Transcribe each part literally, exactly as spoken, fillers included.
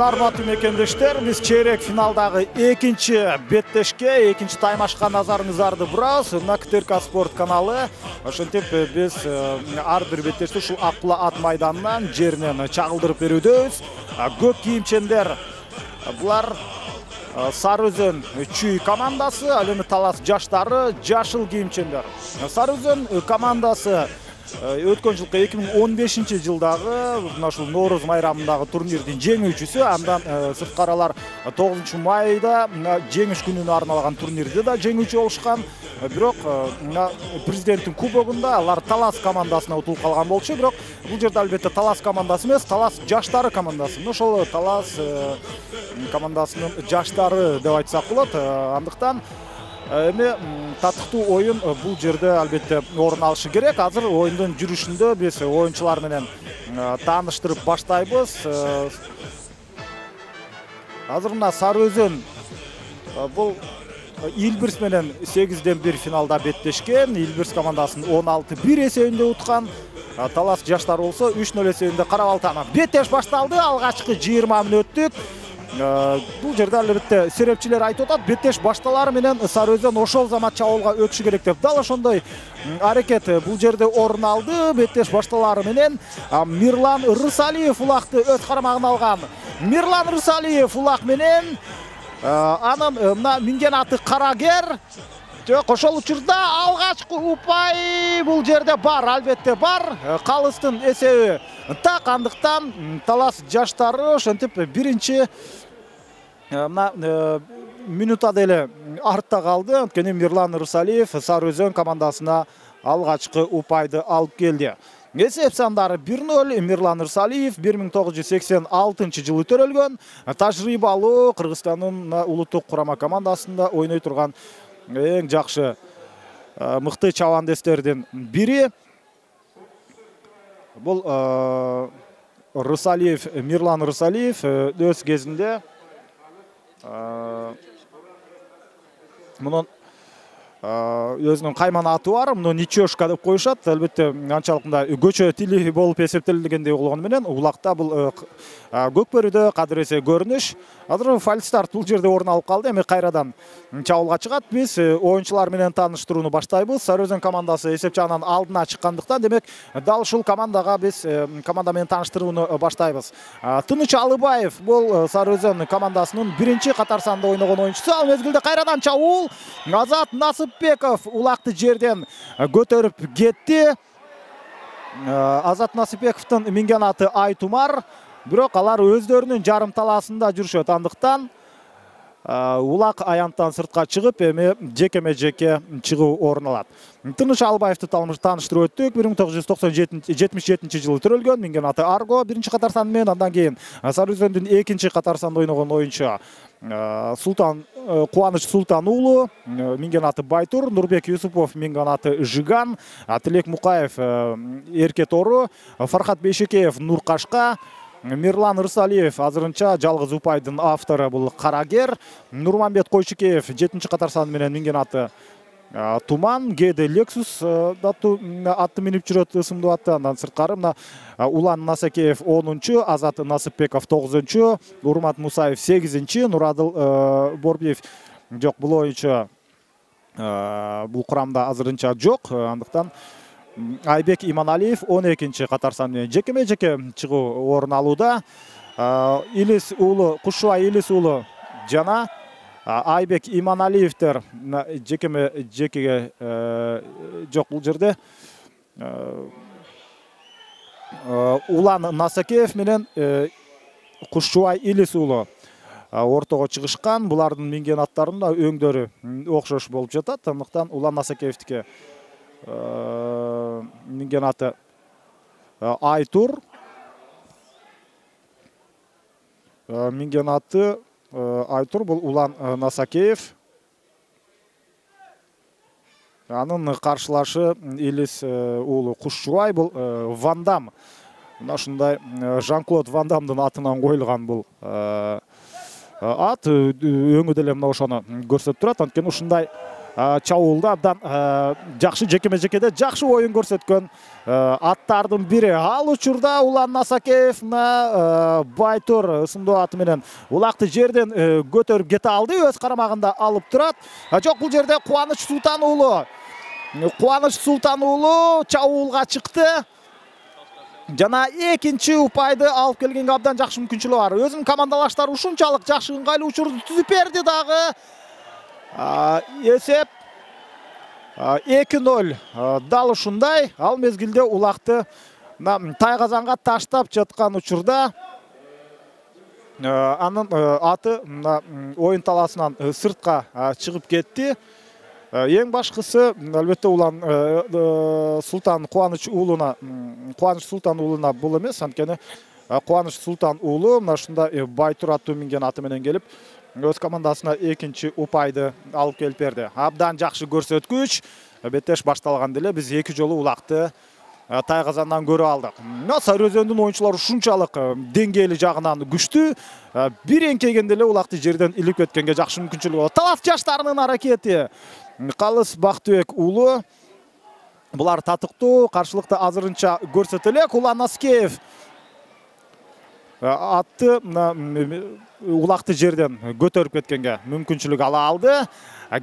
Арматуу мекендештер, биз чейрек финалдагы экинчи беттешке, экинчи таймашка назарыңыздарды бурабыз. Мына КТРК спорт каналы. Ошентип биз ар бир беттешти ушул Акбула ат майданынан жеринен чагылдырып берүүдөбүз. Көк кийимчендер булар Сары Өзөн Чүй командасы, ал эми Талас жаштары жашыл кийимчендер. Сары Өзөн командасы өткөн жылкы эки миң он бешинчи жылдагы мына ушул Нооруз майрамындагы турнирдин жеңүүчүсү. Андан сырткаралар тогузунчу майда жеңиш күнүнө арналган турнирде да жеңүүчү болушкан. Бирок мына президенттин кубогунда алар Талас командасына утулуп калган болчу. Бирок бул жерде албетте Талас командасы эмес, Талас жаштары командасы. Ошол Талас командасынын жаштары деп айтсак болот. Андыктан эми татыктуу оюн бул жерде албетте орун алышы керек. Азыр оюндун жүрүшүндө биз оюнчулар менен тааныштырып баштайбыз. Азыр мына Сары Өзөн бул Илбирс менен сегизден бир финалда беттешкен. Илбирс командасын он алты бир эсебинде уткан. Талас жаштары болсо үч нөл эсебинде карабалтаны. Беттеш башталды. Алгачкы жыйырма мүнөттүк. Бул жерде албетте серепчилер айтып атат, беттеш башталары менен Сары Өзөн ошол замат чабуулга өтүшү керек деп. Дал ошондой аракет бул жерде орун алды. Беттеш башталары менен Мирлан Рысалиев улакты өз карамагына алган. Мирлан Рысалиев улак менен анын мына минген аты Карагер. Жок, ошол учурда алгачкы упай бул жерде бар, албетте бар. Калыстын эсеби так, андыктан Талас жаштары ошентип биринчи мына минута деле артта калды. Анткени Мирлан Рысалиев Сары Өзөн командасына алгачкы упайды алып келди. Эсеп сандары бир нөл. Мирлан Рысалиев бир миң тогуз жүз сексен алтынчы жылы төрөлгөн. Тажрыйбалуу Кыргызстандын улуттук курама командасында ойной турган эң жакшы мыкты чабандестердин бири. Бул Рысалиев, Мирлан Рысалиев өз кезинде мунун өзүнүн кайман аты бар, муну Ничешка деп коюшат. Албетте анчалык мындай көчө тили болуп эсептелгендей болгону менен улакта бул көкбөрүдө кадыр эсе көрүнүш. Азыр фальстарт бул жерде орун алып калды. Эми кайрадан чабуулга чыгат. Биз оюнчулар менен тааныштырууну баштайбыз. Сары Өзөн командасы эсеп жагынан алдына чыккандыктан, демек дал ушул командага биз команда менен тааныштырууну баштайбыз. Тыныч Алыбаев бул Сары Өзөн командасынын биринчи катар санда ойногон оюнчусу. Ал мезгилде кайрадан чабуул. Азат Насыпбеков улакты жерден көтөрүп кетти. Азат Насыпбековдун минген аты Айтумар. Бирок алар өздөрүнүн жарым талаасында жүрүшөт. Андыктан улак аянттан сыртка чыгып, эми жекеме жеке чыгуу орун алат. Тыныч Албаевди тааныштырып өттүк. бир миң тогуз жүз токсон жетимиш жетинчи жылы төрөлгөн. Минген аты Арго биринчи катар сан менен, андан кийин Сары Өзөндүн экинчи катар санда ойногон оюнчу Султан Кубаныч Султан уулу, минген аты Байтур, Нурбек Юсупов минген аты Жиган, Тилек Мукаев Эрке Тору, Фархат Бейшекеев Нуркашка, Мирлан Рысалиев азырынча жалгыз упайдын автору бул Карагер, Нурманбет Койчукеев жетинчи катар сан менен минген аты Туман, Геде Лексус атты минип жүрөт ысымдуу атты. Андан сырткары мына Улан Насакеев онунчу, Азат Насыпбеков тогузунчу, Урмат Мусаев сегизинчи, Нурадыл Борбиев жок, бул оюнчу бул курамда азырынча жок. Андыктан Айбек Иманалиев он экинчи катар сан менен жекеме жеке чыгуу орун алууда. Илис уулу, Кушубай Илис уулу жана Айбек Иманалиевтер жекеме жекеге жок бул жерде. Улан Насакеев менен Кушубай Илис уулу ортого чыгышкан. Булардын минген аттарында өңдөрү окшош болуп жатат. Андыктан Улан Насакеевдики минген аты Айтур, минген аты Айтур бул Улан Насакеев. Анын каршылашы Илис уулу Кушубай бул Ван Дам. Мына ушундай Жан-Клод Ван Дамдын атынан коюлган бул ат. Өңү деле мына ошону көрсөтүп турат. Анткени ушундай чабуулда абдан жакшы жекеме жекеде жакшы оюн көрсөткөн аттардын бири. Ал учурда Улан Насакеев мына Байтур ысымдуу аты менен улакты жерден көтөрүп кете алды, өз карамагында алып турат. Жок, бул жерде Кубаныч Султан уулу Кубаныч Султан уулу чабуулга чыкты. Жана экинчи упайды алып келгенге абдан жакшы мүмкүнчүлүгү бар. Өзүнүн командалаштары ушунчалык жакшы ыңгайлуу учурду түзүп берди дагы. Есеп эки ноль дал ушундай. Ал мезгилде улакты Тайгазанга таштап жаткан учурда анын аты оюн талаасынан сыртка чыгып кетти. Эң башкысы албетте Улан Султан Кубаныч уулуна Кубаныч Султан уулуна бул эмес, анткени Кубаныч Султан уулу мына ушундай Байтур аттуу минген аты менен келип өз командасына экинчи упайды алып келип берди. Абдан жакшы көрсөткүч. Беттеш башталганда эле биз эки жолу улакты Тайгазандан көрүп алдык. Сары Өзөндүн оюнчулары ушунчалык деңгээли жагынан күчтүү. Бир эңкегенде эле улакты жерден илип кеткенге жакшы мүмкүнчүлүгү бар. Талас жаштарынын аракети. Калыс Бактыбек уулу. Булар татыктуу, каршылыкты азырынча көрсөтө элек. Улан Насакеев атты улакты жерден көтөрүп кеткенге мүмкүнчүлүк ала алды.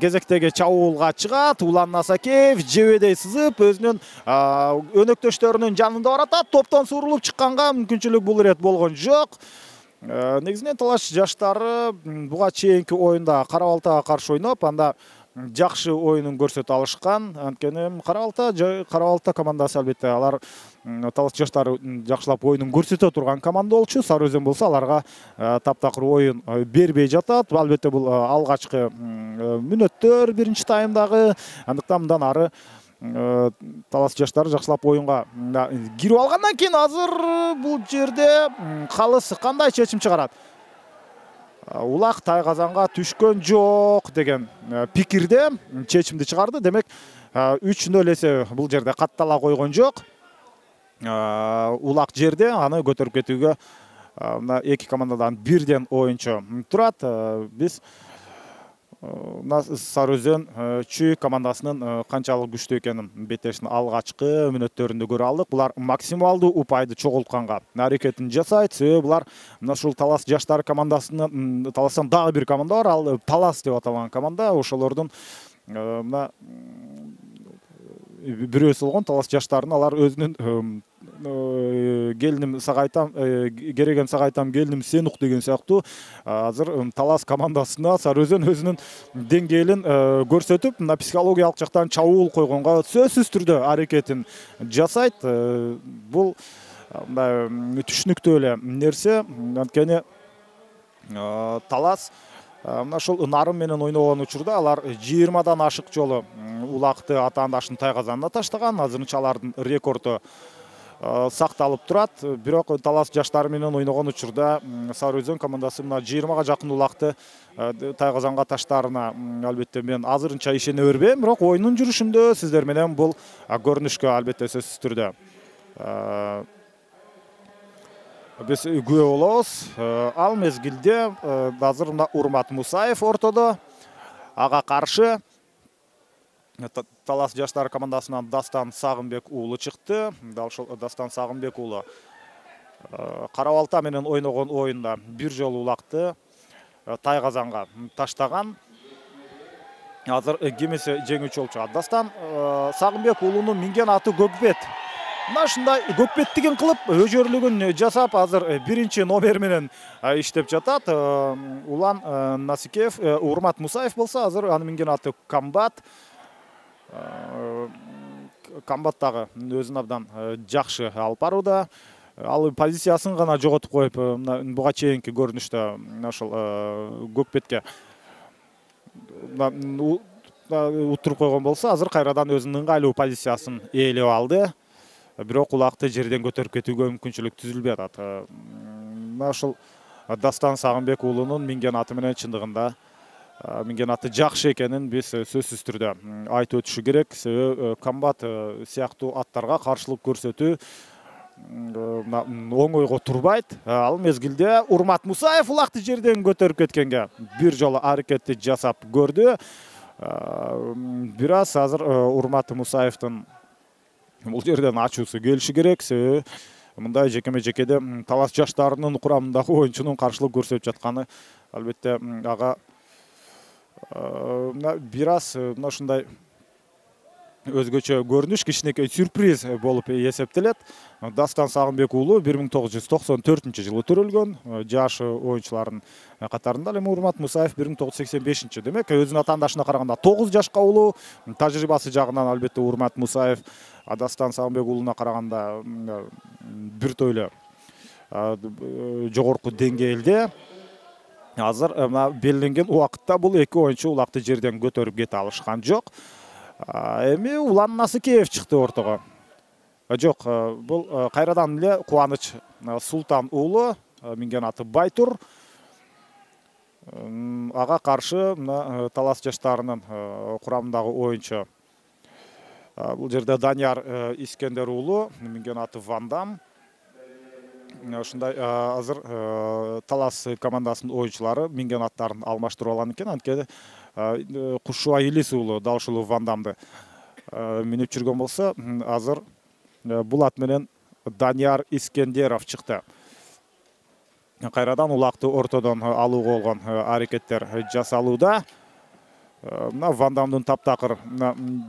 Кезектеги чабуулга чыгат. Улан Насакеев жебедей сызып өзүнүн өнөктөштөрүнүн жанында баратат. Топтон суурулуп чыкканга мүмкүнчүлүк бул ирет болгон жок. Негизинен талаш жаштары буга чейинки оюнда Кара Балтага каршы ойноп, анда жакшы оюнун көрсөтө алышкан. Анткени Кара Балта Кара Балта командасы албетте алар талас жаштары жакшылап оюнун көрсөтө турган команда болчу. Сары Өзөн болсо аларга таптакыр оюн бербей жатат. Албетте бул алгачкы мүнөттөр биринчи таймдагы. Андыктан мындан ары талас жаштары жакшылап оюнга кирип алгандан кийин азыр бул жерде Калыс кандай чечим чыгарат? Улак Тайгазанга түшкөн жок деген пикирде чечимди чыгарды. Демек үч ноль эсеби бул жерде каттала койгон жок. Улак жерде аны көтөрүп кетүүгө эки командадан бирден оюнчу турат. Биз Сары Өзөн чүй командасынын канчалык күчтүү экенин беттештин алгачкы мүнөттөрүндө көрө алдык. Булар максималдуу упайды чогултканга аракетин жасайт. Себеби булар мына ушул Талас жаштар командасынын Таластан дагы бир команда бар, ал Талас деп аталган команда. Ошолордун мына бирөөсү болгон Талас жаштарын алар өзүнүн келиним сагайтам кереген сагайтам келиним сен ук деген сыяктуу азыр Талас командасына Сары Өзөн өзүнүн деңгээлин көрсөтүп, мына психологиялык жактан чабуул койгонго сөзсүз түрдө аракетин жасайт. Бул мындай түшүнүктүү эле нерсе. Анткени Талас мына ушул Нарым менен ойногон учурда алар жыйырмадан ашык жолу улакты атаандашын Тайгазанына таштаган. Азырынча алардын рекорду сакталып турат. Бирок Талас жаштары менен ойногон учурда Сары Өзөн командасы мына жыйырмага жакын улакты Тайгазанга таштаарына албетте мен азырынча ишене бербейм. Бирок оюнун жүрүшүндө сиздер менен бул көрүнүшкө албетте сөзсүз түрдө биз күбө болобуз. Ал мезгилде азыр мына Урмат Мусаев ортодо. Ага каршы Талас жаштар командасынан Дастан Сагынбек уулу чыкты. Дал ошол Дастан Сагынбек уулу Кара Балта менен ойногон оюнда бир жолу улакты Тайгазанга таштаган. Азыр кемесе жеңүүчү болчу. Дастан Сагынбек уулунун минген аты Көкбет. Мына ушундай көкбеттигин кылып өжөрлүгүн жасап азыр биринчи номер менен иштеп жатат. Улан Насакеев, Урмат Мусаев болсо азыр анын минген аты Камбат. Камбат дагы өзүн абдан жакшы алып барууда. Ал позициясын гана жоготуп коюп, буга чейинки көрүнүштө ошол Көкбетке утуруп койгон болсо, азыр кайрадан өзүнүн ыңгайлуу позициясын ээлеп алды. Бирок улакты жерден көтөрүп кетүүгө мүмкүнчүлүк түзүлбөй атат. Мына ушул Дастан Сагынбек уулунун минген аты менен чындыгында минген аты жакшы экенин биз сөзсүз түрдө айтып өтүшү керек. Себеби Камбат сыяктуу аттарга каршылык көрсөтүү оңойго турбайт. Ал мезгилде Урмат Мусаев улакты жерден көтөрүп кеткенге бир жолу аракетти жасап көрдү. бир аз азыр Урмат Мусаевдин бул жерден ачуусу келиши керек. Себеби мындай жекеме жекеде талас жаштарынын курамындагы оюнчунун каршылык көрсөтүп жатканы албетте ага бир аз мына ушундай өзгөчө көрүнүш, кичинекей сюрприз болуп эсептелет. Дастан Сагынбек уулу бир миң тогуз жүз токсон төртүнчү жылы төрөлгөн. Жашы оюнчулардын катарында эми Урмат Мусаев бир миң тогуз жүз сексен бешинчи. Демек, өзүнүн атаандашына караганда тогуз жашка улуу. Тажрыйбасы жагынан албетте Урмат Мусаев Дастан Сагынбек уулуна караганда бир тойло жогорку деңгээлде. Азыр белгиленген убакытта бул эки оюнчу улакты жерден көтөрүп кете алышкан жок. Эми Улан Насыкеев чыкты ортого. Жок, бул кайрадан эле Кубаныч Султан уулу, минген аты Байтур. Ага каршы мына талас жаштарынын курамындагы оюнчу. Бул жерде Данияр Искендер уулу, минген аты Вандам. Ушундай азыр талас командасынын оюнчулары минген аттарын алмаштырып алган экен. Анткени Кушуа Илис уулу дал ушул Вандамды минип жүргөн болсо, азыр бул ат менен Данияр Искендеров чыкты. Кайрадан улакты ортодон алууга болгон аракеттер жасалууда. Мына Вандамдын таптакыр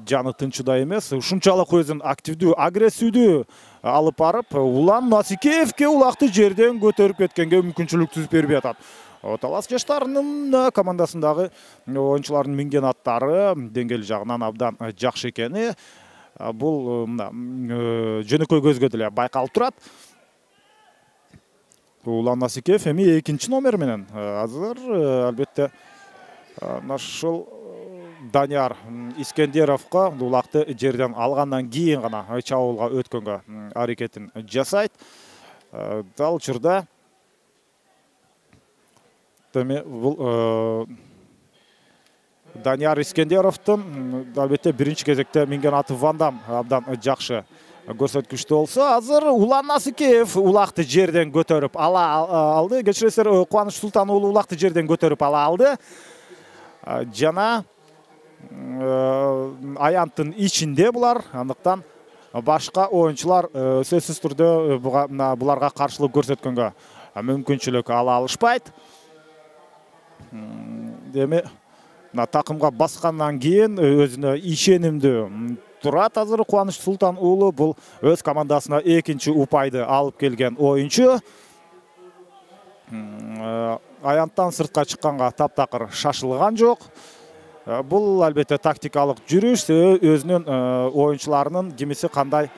жаны тынчыда эмес, ушунчалык өзүн активдүү, агрессивдүү алып барып, Улан Насыкеевке улакты жерден көтөрүп кеткенге мүмкүнчүлүк түзүп бербей атат. Талас жаштарынын командасындагы оюнчулардын минген аттары деңгээл жагынан абдан жакшы экени бул жөнөкөй көзгө деле байкалып турат. Улан Насыкеев эми экинчи номер менен азыр албетте ушул Данияр Искендеровго улакты жерден алгандан кийин гана чабуулга өткөнгө аракетин жасайт. Дал учурда Теме бул Данияр Искендеровдун албетте биринчи кезекте минген аты Вандам абдан жакшы көрсөткүчтүү болсо, азыр Улан Насыкеев улакты жерден көтөрүп ала алды. Кечиресиздер, Кубаныч Султан уулу улакты жерден көтөрүп ала алды. Жана аянттын ичинде булар, андыктан башка оюнчулар сөзсүз түрдө буларга каршылык көрсөткөнгө мүмкүнчүлүк ала алышпайт. Деме такымга баскандан кийин өзүнө ишенимдүү турат азыр Кубаныч Султан уулу. Бул өз командасына экинчи упайды алып келген оюнчу. Аянттан сыртка чыкканга таптакыр шашылган жок. Бул албетте тактикалык жүрүш, өзүнүн оюнчуларынын кимиси кандай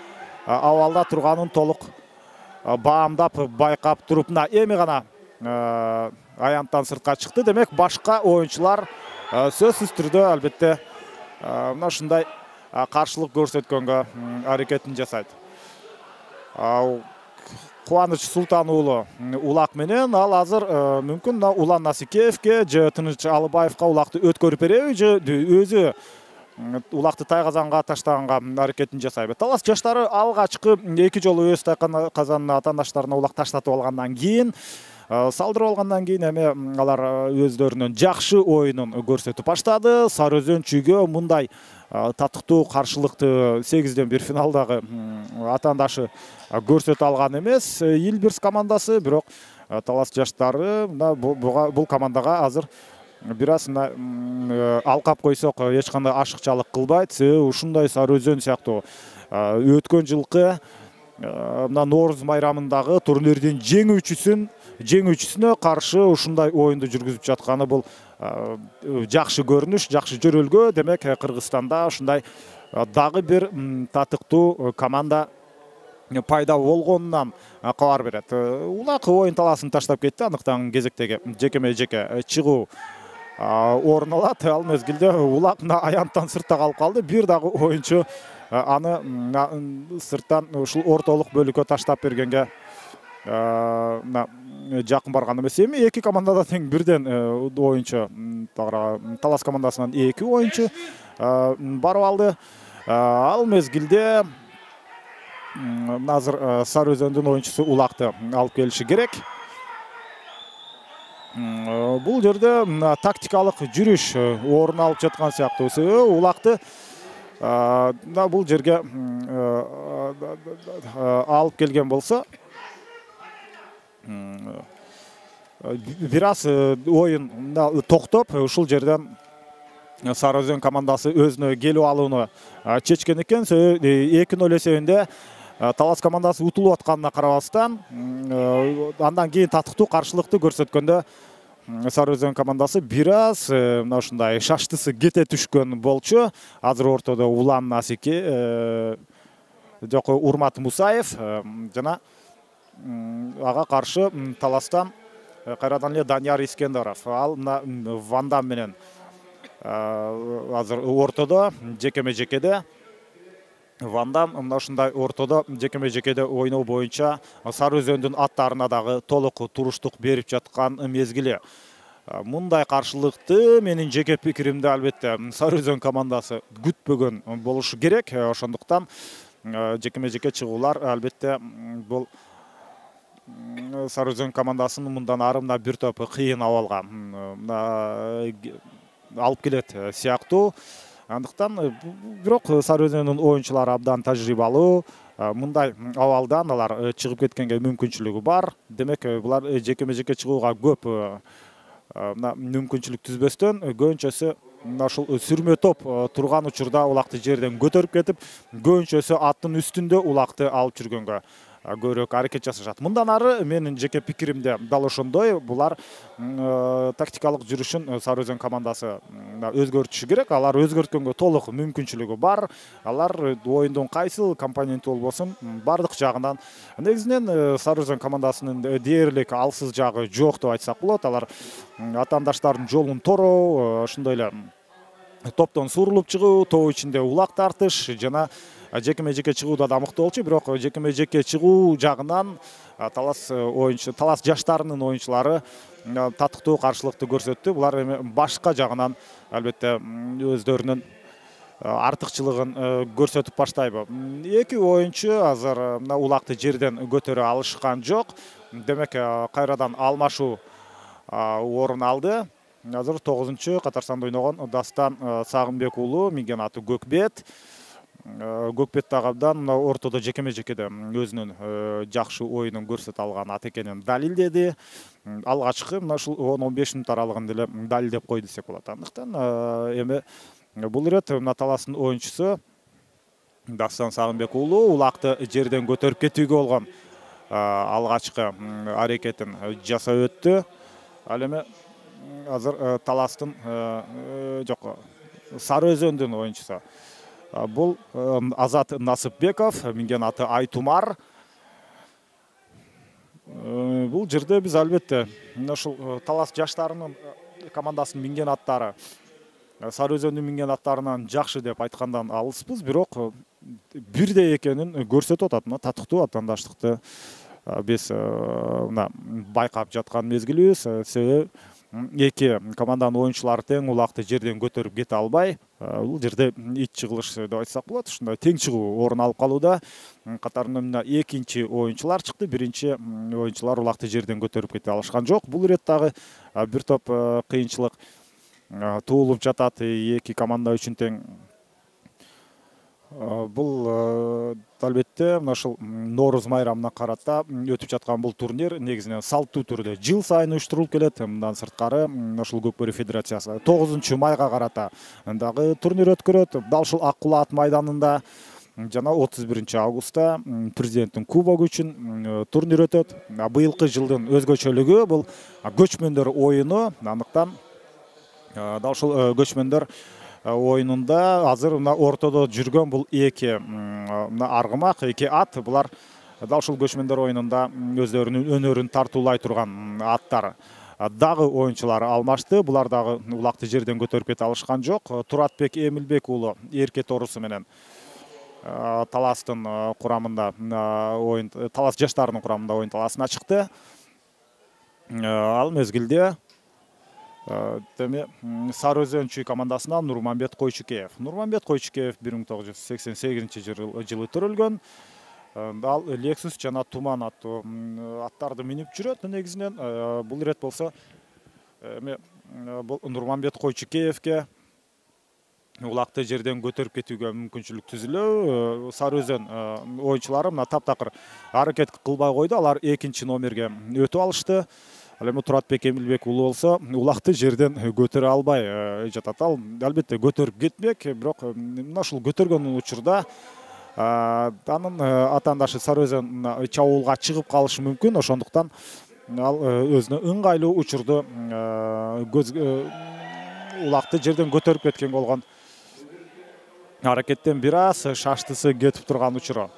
абалда турганын толук баамдап, байкап туруп, мына эми гана аянттан сыртка чыкты. Демек, башка оюнчулар сөзсүз түрдө албетте мына ушундай каршылык көрсөткөнгө аракетин жасайт. Кубаныч Султан уулу улак менен ал азыр мүмкүн Улан Насыкеевке же Тыныч Алыбаевка улакты өткөрүп береби, же өзү улакты тайгазанга таштаганга аракетин жасайбы. Талас жаштары алгачкы эки жолу өз тайгазанына атаандаштарына улак таштатып алгандан кийин, салдырып алгандан кийин эми алар өздөрүнүн жакшы оюнун көрсөтүп баштады. Сары Өзөн чүйгө мындай татыктуу каршылыкты сегизден бир финалдагы атаандашы көрсөтө алган эмес Илбирс командасы, бирок талас жаштары бул командага азыр бир аз алкап койсок эч кандай ашыкчалык кылбайт. Себеби ушундай Сары Өзөн сыяктуу өткөн жылкы мына Нооруз майрамындагы турнирдин жеңүүчүсүн жеңүүчүсүнө каршы ушундай оюнду жүргүзүп жатканы бул жакшы көрүнүш, жакшы жөрөлгө. Демек, Кыргызстанда ушундай дагы бир татыктуу команда пайда болгонунан кабар берет. Улак оюн таласын таштап кетти, андыктан кезектеги жекеме жеке чыгуу орун алат. Ал мезгилде улак аянттан сыртта калып калды. Бир дагы оюнчу аны сырттан ушул ортолук бөлүккө таштап бергенге жакын барган эмес. Эми эки командада тең бирден оюнчу, талас командасынан эки оюнчу барып алды. Ал мезгилде азыр Сары Өзөндүн оюнчусу улакты алып келиши керек. Бул жерде тактикалык жүрүш орун алып жаткан сыяктуу. Улакты бул жерге алып келген болсо, бир аз оюн токтоп, ушул жерден Сары Өзөн командасы өзүнө келип алууну чечкен экен. эки ноль эсебинде Талас командасы утулуп атканына карабастан, андан кийин татыктуу каршылыкты көрсөткөндө Сары Өзөн командасы бир аз мына ушундай шаштысы кете түшкөн болчу. Азыр ортодо Улан Насике, жок Урмат Мусаев жана ага каршы Таластан кайрадан эле Данияр Искендеров. Ал мына Вандам менен азыр ортодо жекеме-жекеде. Вандам мына ушундай ортодо жекеме-жекеде ойноо боюнча Сары Өзөндүн аттарына дагы толук туруштук берип жаткан мезгили. Мындай каршылыкты менин жеке пикиримде албетте Сары Өзөн командасы күтпөгөн болушу керек. Ошондуктан жекеме-жеке чыгуулар албетте бул Сары Өзөн командасын мындан ары мына бир топ кыйын абалга алып келет сыяктуу. Андыктан бирок Сары Өзөндүн оюнчулары абдан тажрыйбалуу. Мындай абалдан алар чыгып кеткенге мүмкүнчүлүгү бар. Демек, булар жекеме-жеке чыгууга көп мүмкүнчүлүк түзбөстөн көбүнчөсү мына ушул сүрмө топ турган учурда улакты жерден көтөрүп кетип, көбүнчөсү аттын үстүндө улакты алып жүргөнгө көбүрөөк аракет жасашат. Мындан ары менин жеке пикиримде дал ошондой. Булар тактикалык жүрүшүн Сары Өзөн командасы өзгөртүшү керек. Алар өзгөрткөнгө толук мүмкүнчүлүгү бар. Алар оюндун кайсыл компоненти болбосун бардык жагынан негизинен Сары Өзөн командасынын дээрлик алсыз жагы жок деп айтсак болот. Алар атаандаштардын жолун тороо, ошондой эле топтон сурулуп чыгуу, топ ичинде улак тартыш жана жекеме-жеке чыгууда да мыкты болчу. Бирок жекеме-жеке чыгуу жагынан Талас оюнчу, Талас жаштарынын оюнчулары татыктуу каршылыкты көрсөттү. Булар эми башка жагынан албетте өздөрүнүн артыкчылыгын көрсөтүп баштайбы. Эки оюнчу азыр мына улакты жерден көтөрө алышкан жок. Демек, кайрадан алмашуу орун алды. Азыр тогузунчу катарсанда ойногон Дастан Сагынбек уулу, минген аты Көкбет. Көкбет дагы абдан мына ортодо жекеме-жекеде өзүнүн жакшы оюнун көрсөтө алган ат экенин далилдеди. Алгачкы мына ушул он он беш мүнөт аралыгында эле далилдеп койду десек болот. Андыктан эми бул ирет мына Таластын оюнчусу Дастан Сагынбек уулу улакты жерден көтөрүп кетүүгө болгон алгачкы аракетин жасап өттү. Ал эми азыр Таластын жок Сары Өзөндүн оюнчусу бул Азат Насыпбеков, минген аты Айтумар. Бул жерде биз албетте мына ушул Талас жаштарынын командасынын минген аттары Сары Өзөндүн минген аттарынан жакшы деп айткандан алыспыз, бирок бирдей экенин көрсөтүп атат. Мына татыктуу атаандаштыкты биз мына байкап жаткан мезгилибиз. Себеби эки команданын оюнчулары тең улакты жерден көтөрүп кете албай, бул жерде ич чыгылыш деп айтсак болот. Ушундай тең чыгуу орун алып калууда. Катарында мына экинчи оюнчулар чыкты. Биринчи оюнчулар улакты жерден көтөрүп кете алышкан жок. Бул ирет дагы бир топ кыйынчылык туулуп жатат эки команда үчүн тең. Бул албетте мына ушул Нооруз майрамына карата өтүп жаткан бул турнир негизинен салттуу түрдө жыл сайын уюштурулуп келет. Мындан сырткары ушул Көкбөрү федерациясы тогузунчу майга карата дагы турнир өткөрөт. Дал ушул Ак Кулаат майданында жана отуз биринчи августта президенттин кубогу үчүн турнир өтөт. Быйылкы жылдын өзгөчөлүгү бул көчмөндөр оюну. Андыктан дал ушул көчмөндөр оюнунда азыр мына ортодо жүргөн бул эки мына аргымак, эки ат. Булар дал ушул көчмөндөр оюнунда өздөрүнүн өнөрүн тартуулай турган аттар. Дагы оюнчулары алмашты. Булар дагы улакты жерден көтөрүп кете алышкан жок. Туратбек Эмилбек уулу Эрке Торусу менен Таластын курамында оюн, Талас жаштарынын курамында оюн таласына чыкты. Ал мезгилде Теме Сары Өзөнчү командасынан Нурманбет Койчукеев. Нурманбет Койчукеев бир миң тогуз жүз сексен сегизинчи жылы төрөлгөн. Ал Lexus жана Туман аттуу аттарды минип жүрөт негизинен. Бул ирет болсо эми бул Нурманбет Койчукеевке улакты жерден көтөрүп кетүүгө мүмкүнчүлүк түзүлөбү. Сары Өзөн оюнчулары мына таптакыр аракет кылбай койду. Алар экинчи номерге өтүп алышты. Ал эми Туратбек Эмилбек уулу болсо улакты жерден көтөрө албай жатат. Ал албетте көтөрүп кетмек, бирок мына ушул көтөргөн учурда анын атаандашы Сары Өзөн чабуулга чыгып калышы мүмкүн. Ошондуктан ал өзүнө ыңгайлуу учурду улакты жерден көтөрүп кеткен болгон аракеттен бир аз шаштысы кетип турган учуру.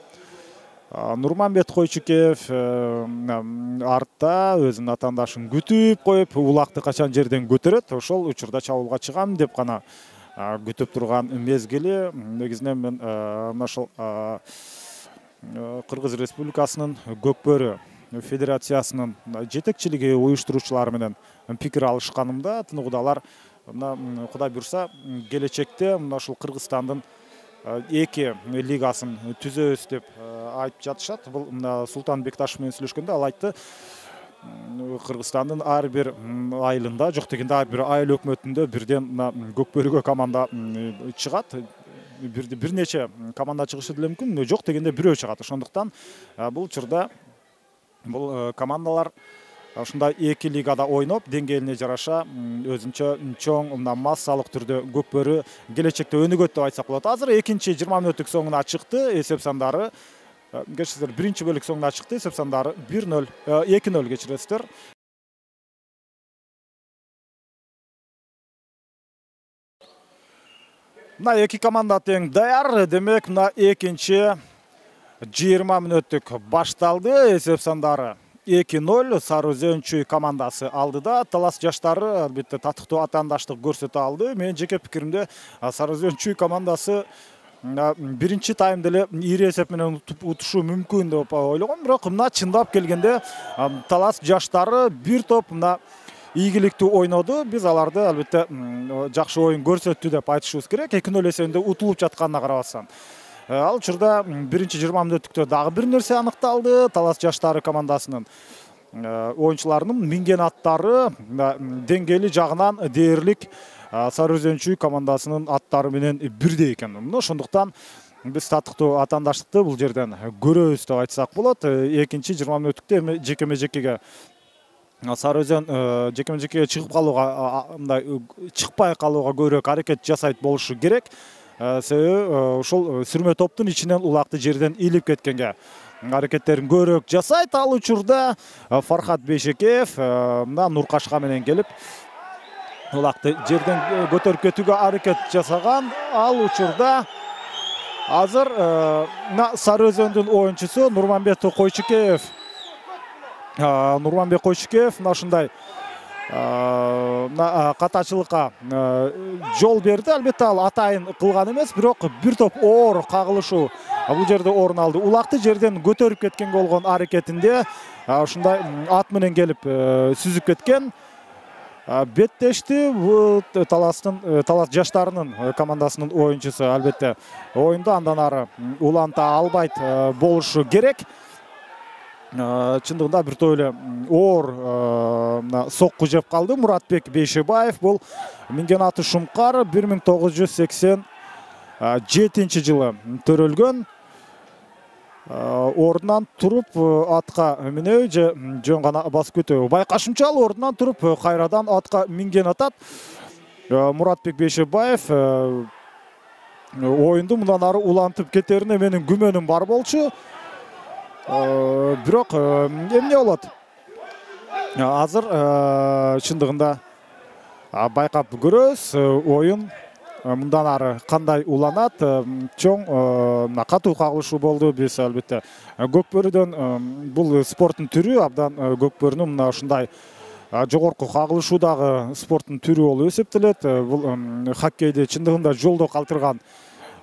Нурманбет Койчукеев артта өзүнүн атаандашын күтүп коюп, улакты качан жерден көтөрөт, ошол учурда чабуулга чыгам деп гана күтүп турган мезгили. Негизинен мен мына ушул Кыргыз Республикасынын Көкбөрү Федерациясынын жетекчилиги, уюштуруучулары менен пикир алышканымда тыныгуда алар мына Кудай буйрса келечекте мына ушул Кыргызстандын эки лигасын түзөбүз деп айтып жатышат. Бул мына Султан Бекташев менен сүйлөшкөндө ал айтты, Кыргызстандын ар бир айылында, жок дегенде ар бир айыл өкмөтүндө бирден мына Көкбөрүгө команда чыгат. Бир нече команда чыгышы деле мүмкүн, жок дегенде бирөө чыгат. Ошондуктан бул учурда бул командалар ушундай эки лигада ойноп, деңгээлине жараша өзүнчө чоң мына массалык түрдө Көкбөрү келечекте өнүгөт деп айтсак болот. Азыр экинчи жыйырма мүнөттүк соңуна чыкты. Эсеп сандары кечиресиздер, биринчи бөлүк соңуна чыкты. Эсеп сандары бир нөл, эки нөл кечиресиздер. Мына эки команда тең даяр. Демек, мына экинчи жыйырма мүнөттүк башталды. Эсеп сандары эки нөл Сары Өзөнчү командасы алдыда. Талас жаштары албетте татыктуу атаандаштык көрсөтө алды. Менин жеке пикиримде Сары Өзөнчү командасы биринчи таймда эле ири эсеп менен утушу мүмкүн деп ойлогом, бирок мына чындап келгенде Талас жаштары бир топ мына ийгиликтүү ойноду. Биз аларды албетте жакшы оюн көрсөттү деп айтышыбыз керек. эки нөл эсебинде утулуп жатканына карабастан. Ал учурда биринчи жыйырма мүнөттүктө дагы бир нерсе аныкталды. Талас жаштары командасынын оюнчуларынын минген аттары деңгээли жагынан дээрлик Сары Өзөнчү командасынын аттары менен бирдей экен. Ошондуктан биз татыктуу атаандаштыкты бул жерден көрөбүз деп айтсак болот. Экинчи жыйырма мүнөттүктө эми жекеме жекеге Сары Өзөн жекеме жекеге чыгып калууга, мындай чыкпай калууга көбүрөөк аракет жасайт болушу керек. Себеби ушул сүрмө топтун ичинен улакты жерден илип кеткенге аракеттерин көбүрөөк жасайт. Ал учурда Фархат Бейшекеев мына Нуркашка менен келип улакты жерден көтөрүп кетүүгө аракет жасаган. Ал учурда азыр мына Сары Өзөндүн оюнчусу Нурманбет Койчукеев Нурманбет Койчукеев мына ушундай катачылыкка жол берди. Албетте ал атайын кылган эмес, бирок бир топ оор кагылышуу бул жерде орун алды. Улакты жерден көтөрүп кеткен болгон аракетинде ушундай ат менен келип сүзүп кеткен. Беттешти Таластын Талас жаштарынын командасынын оюнчусу. Албетте оюнду андан ары уланта албайт болушу керек. Чындыгында бир топ эле оор сокку жеп калды. Муратбек Бейшебаев бул минген аты Шумкар бир миң тогуз жүз сексен жетинчи жылы төрөлгөн. Ордунан туруп атка минөө же жөн гана басып кетүү байкашымча ал ордунан туруп кайрадан атка минген атат. Муратбек Бейшебаев оюнду мындан ары улантып кетерине менин күмөнүм бар болчу. Бирок эмне болот? Азыр чындыгында байкап көрөбүз оюн мындан ары кандай уланат. Чоң катуу кагылышуу болду. Биз албетте Көкбөрүдөн бул спорттун түрү абдан Көкбөрүнүн мына ушундай жогорку кагылышуудагы спорттун түрү болуп эсептелет. Бул хоккейди чындыгында жолдо калтырган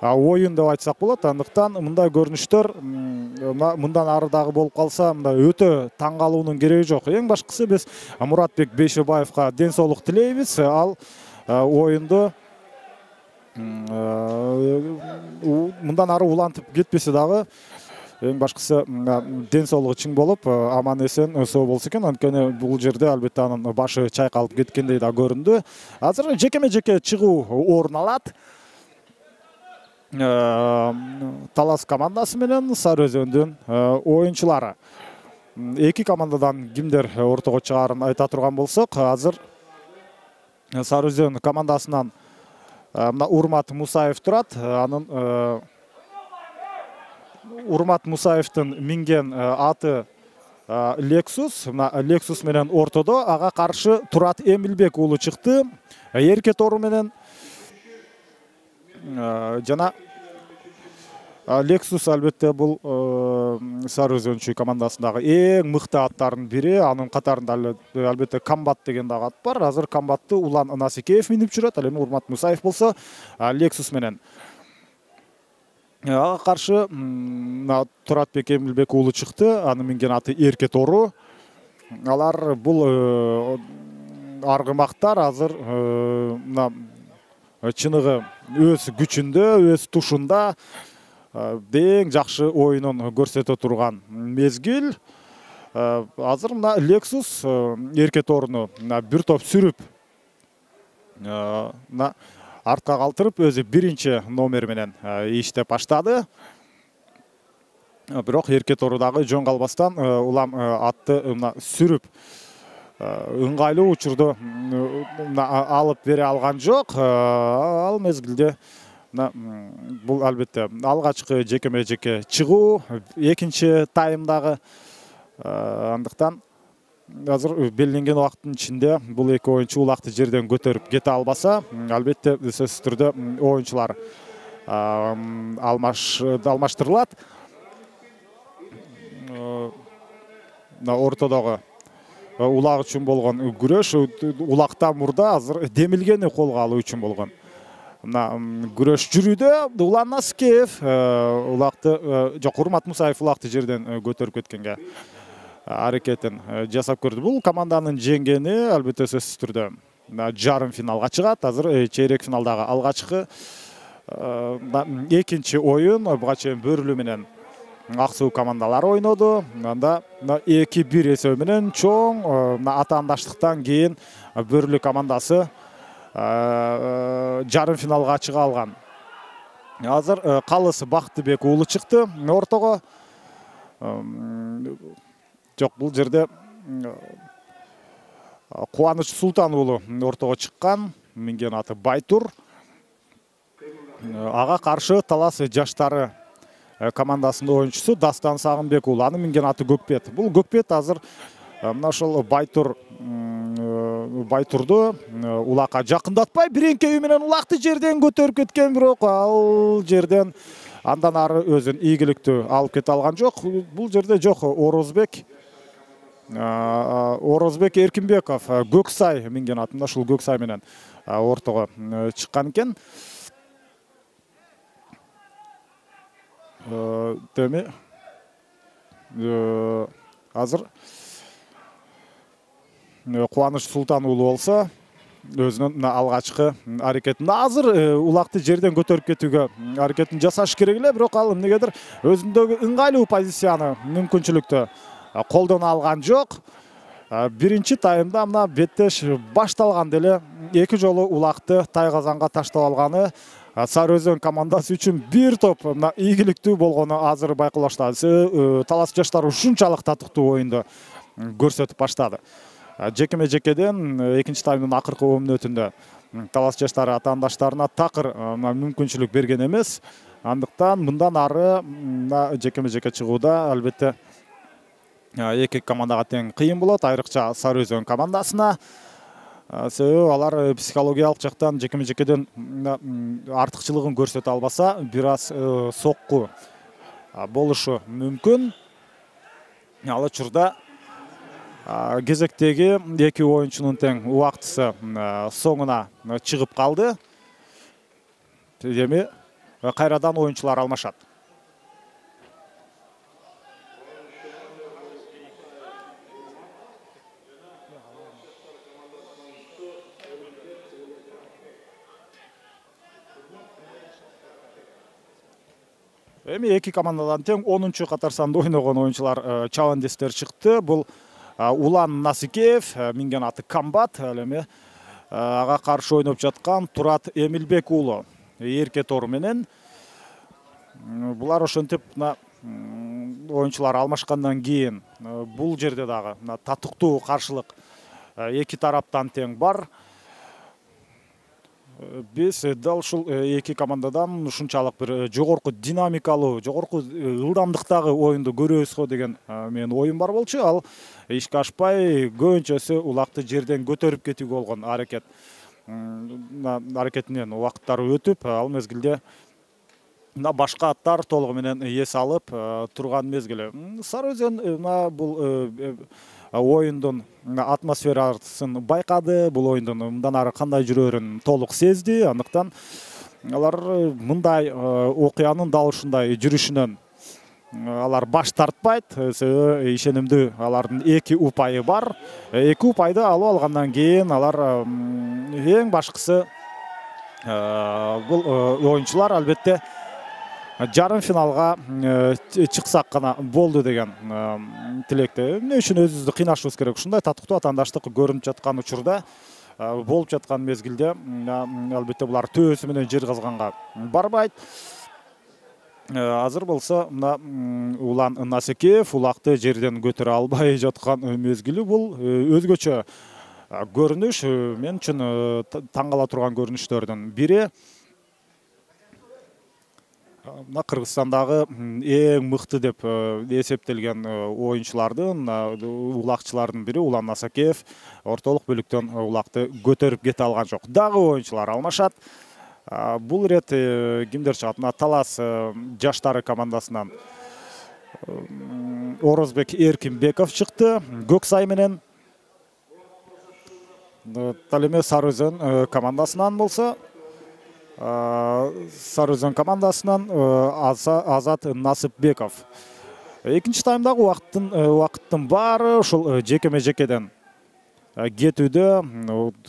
оюн деп айтсак болот. Андыктан мындай көрүнүштөр мындан ары дагы болуп калса мындай өтө таң калуунун кереги жок. Эң башкысы биз Муратбек Бейшебаевка ден соолук тилейбиз. Ал оюнду мындан ары улантып кетпесе дагы эң башкысы ден соолугу чың болуп, аман эсен соо болсо экен. Анткени бул жерде албетте анын башы чайкалып кеткендей да көрүндү. Азыр жекеме-жеке чыгуу орун алат. Талас командасы менен Сары Өзөндүн оюнчулары. Эки командадан кимдер ортого чыгарын айта турган болсок, азыр Сары Өзөн командасынан мына Урмат Мусаев турат. Анын Урмат Мусаевдин минген аты Lexus. Мына Lexus менен ортодо ага каршы Турат Эмилбек уулу чыкты. Эрке тору менен жана Lexus албетте бул Сары Өзөнчү командасындагы эң мыкты аттардын бири. Анын катарында албетте Комбат деген дагы ат бар. Азыр Комбатты Улан Насикеев минип жүрөт. Ал эми Урмат Мусаев болсо Lexus менен. Ага каршы Туратбек Эмилбек уулу чыкты. Анын минген аты Эрке тору. Алар бул аргымактар азыр мына чыныгы өз күчүндө, өз тушунда эң жакшы оюнун көрсөтө турган мезгил. Азыр мына Lexus Эрке торуну бир топ сүрүп, мына артка калтырып, өзү биринчи номер менен иштеп баштады. Бирок Эрке тору дагы жөн калбастан улам атты мына сүрүп ыңгайлуу учурду алып бере алган жок. Ал мезгилде бул албетте алгачкы жекеме-жеке чыгуу, экинчи таймдагы. Андыктан азыр белгиленген убакыттын ичинде бул эки оюнчу улакты жерден көтөрүп кете албаса, албетте сөзсүз түрдө оюнчулар алмаштырылат. Ортодогу улак үчүн болгон күрөш, улактан мурда азыр демилгени колго алуу үчүн болгон күрөш жүрүүдө. Улан Насикеев улакты жок, Урмат Мусаев улакты жерден көтөрүп кеткенге аракетин жасап көрдү. Бул команданын жеңгени албетте сөзсүз түрдө жарым финалга чыгат. Азыр чейрек финалдагы алгачкы экинчи оюн буга чейин Бөрүлүү менен Ак суу командалары ойноду. Анда эки бир эсеби менен чоң атаандаштыктан кийин Бөрүлүү командасы жарым финалга чыга алган. Азыр Калыс Бактыбек уулу чыкты ортого. Жок, бул жерде Кубаныч Султан уулу ортого чыккан. Минген аты Байтур. Ага каршы Талас жаштары командасынын оюнчусу Дастан Сагынбек уулу. Анын минген аты Көкпет. Бул Көкпет азыр мына ошол Байтур Байтурду улакка жакындатпай биреңкеби менен улакты жерден көтөрүп кеткен, бирок ал жерден андан ары өзүн ийгиликтүү алып кете алган жок. Бул жерде жок, Орозбек Орозбек Эркинбеков Көксай минген атында ушул Көксай менен ортого чыккан экен. Теме азыр Кубаныч Султан уулу болсо өзүнүн алгачкы аракетин азыр улакты жерден көтөрүп кетүүгө аракетин жасаш керек эле, бирок ал эмнегедир өзүндөгү ыңгайлуу позицияны, мүмкүнчүлүктү колдоно алган жок. Биринчи таймда мына беттеш башталганда эле эки жолу улакты тайгазанга таштап алганы Сары Өзөн командасы үчүн бир топ мына ийгиликтүү болгону азыр байкалаштады. Талас жаштары ушунчалык татыктуу оюнду көрсөтүп баштады. Жекеме-жекеден экинчи таймдын акыркы он мүнөтүндө Талас жаштары атаандаштарына такыр мүмкүнчүлүк берген эмес. Андыктан мындан ары жекеме-жеке чыгууда албетте эки командага тең кыйын болот, айрыкча Сары Өзөн командасына. Себеби алар психологиялык жактан жекеме-жекеден артыкчылыгын көрсөтө албаса, бир аз сокку болушу мүмкүн. Ал учурда кезектеги эки оюнчунун тең убактысы соңуна чыгып калды. Эми кайрадан оюнчулар алмашат. Эми эки командадан тең онунчу катар санда ойногон оюнчулар чабандестер чыкты. Бул Улан Насикеев, минген аты Камбат, ал эми ага каршы ойноп жаткан Турат Эмилбек уулу эрке тору менен. Булар ошентип оюнчулар алмашкандан кийин бул жерде дагы татыктуу каршылык эки тараптан тең бар. Биз дал ушул эки командадан ушунчалык бир жогорку динамикалуу, жогорку ылдамдыктагы оюнду көрөбүз го деген менин оюм бар болчу. Ал ишке ашпай көбүнчөсү улакты жерден көтөрүп кетүүгө болгон аракет аракетинен убакыттары өтүп, ал мезгилде башка аттар толугу менен эс алып турган мезгили. Сары Өзөн бул оюндун атмосферасын байкады, бул оюндун мындан ары кандай жүрөрүн толук сезди. Андыктан алар мындай окуянын дал ушундай жүрүшүнөн алар баш тартпайт. Себеби ишенимдүү алардын эки упайы бар. Эки упайды алып алгандан кийин алар эң башкысы бул оюнчулар албетте жарым финалга чыксак гана болду деген тилекте. Эмне үчүн өзүбүздү кыйнашыбыз керек? Ушундай татыктуу атаандаштык көрүнүп жаткан учурда, болуп жаткан мезгилде албетте булар төбөсү менен жер казганга барбайт. Азыр болсо мына Улан Насикеев улакты жерден көтөрө албай жаткан мезгили бул өзгөчө көрүнүш. Мен үчүн таң кала турган көрүнүштөрдүн бири. Мына Кыргызстандагы эң мыкты деп эсептелген оюнчулардын, улакчылардын бири Улан Насикеев ортолук бөлүктөн улакты көтөрүп кете алган жок. Дагы оюнчулар алмашат. Бул ирет кимдер чыгат? Мына Талас жаштары командасынан Орозбек Эркинбеков чыкты. Көксай менен. Ал эми Сары Өзөн командасынан болсо Сары Өзөн командасынан Азат Насипбеков. Экинчи таймдагы убакыттын убакыттын баары ушул жекеме жекеден кетүүдө,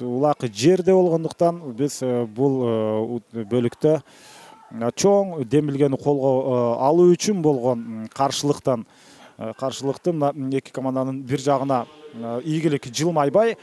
улак жерде болгондуктан биз бул бөлүктө чоң демилгени колго алуу үчүн болгон каршылыктан каршылыктын эки команданын бир жагына ийгилик жылмайбай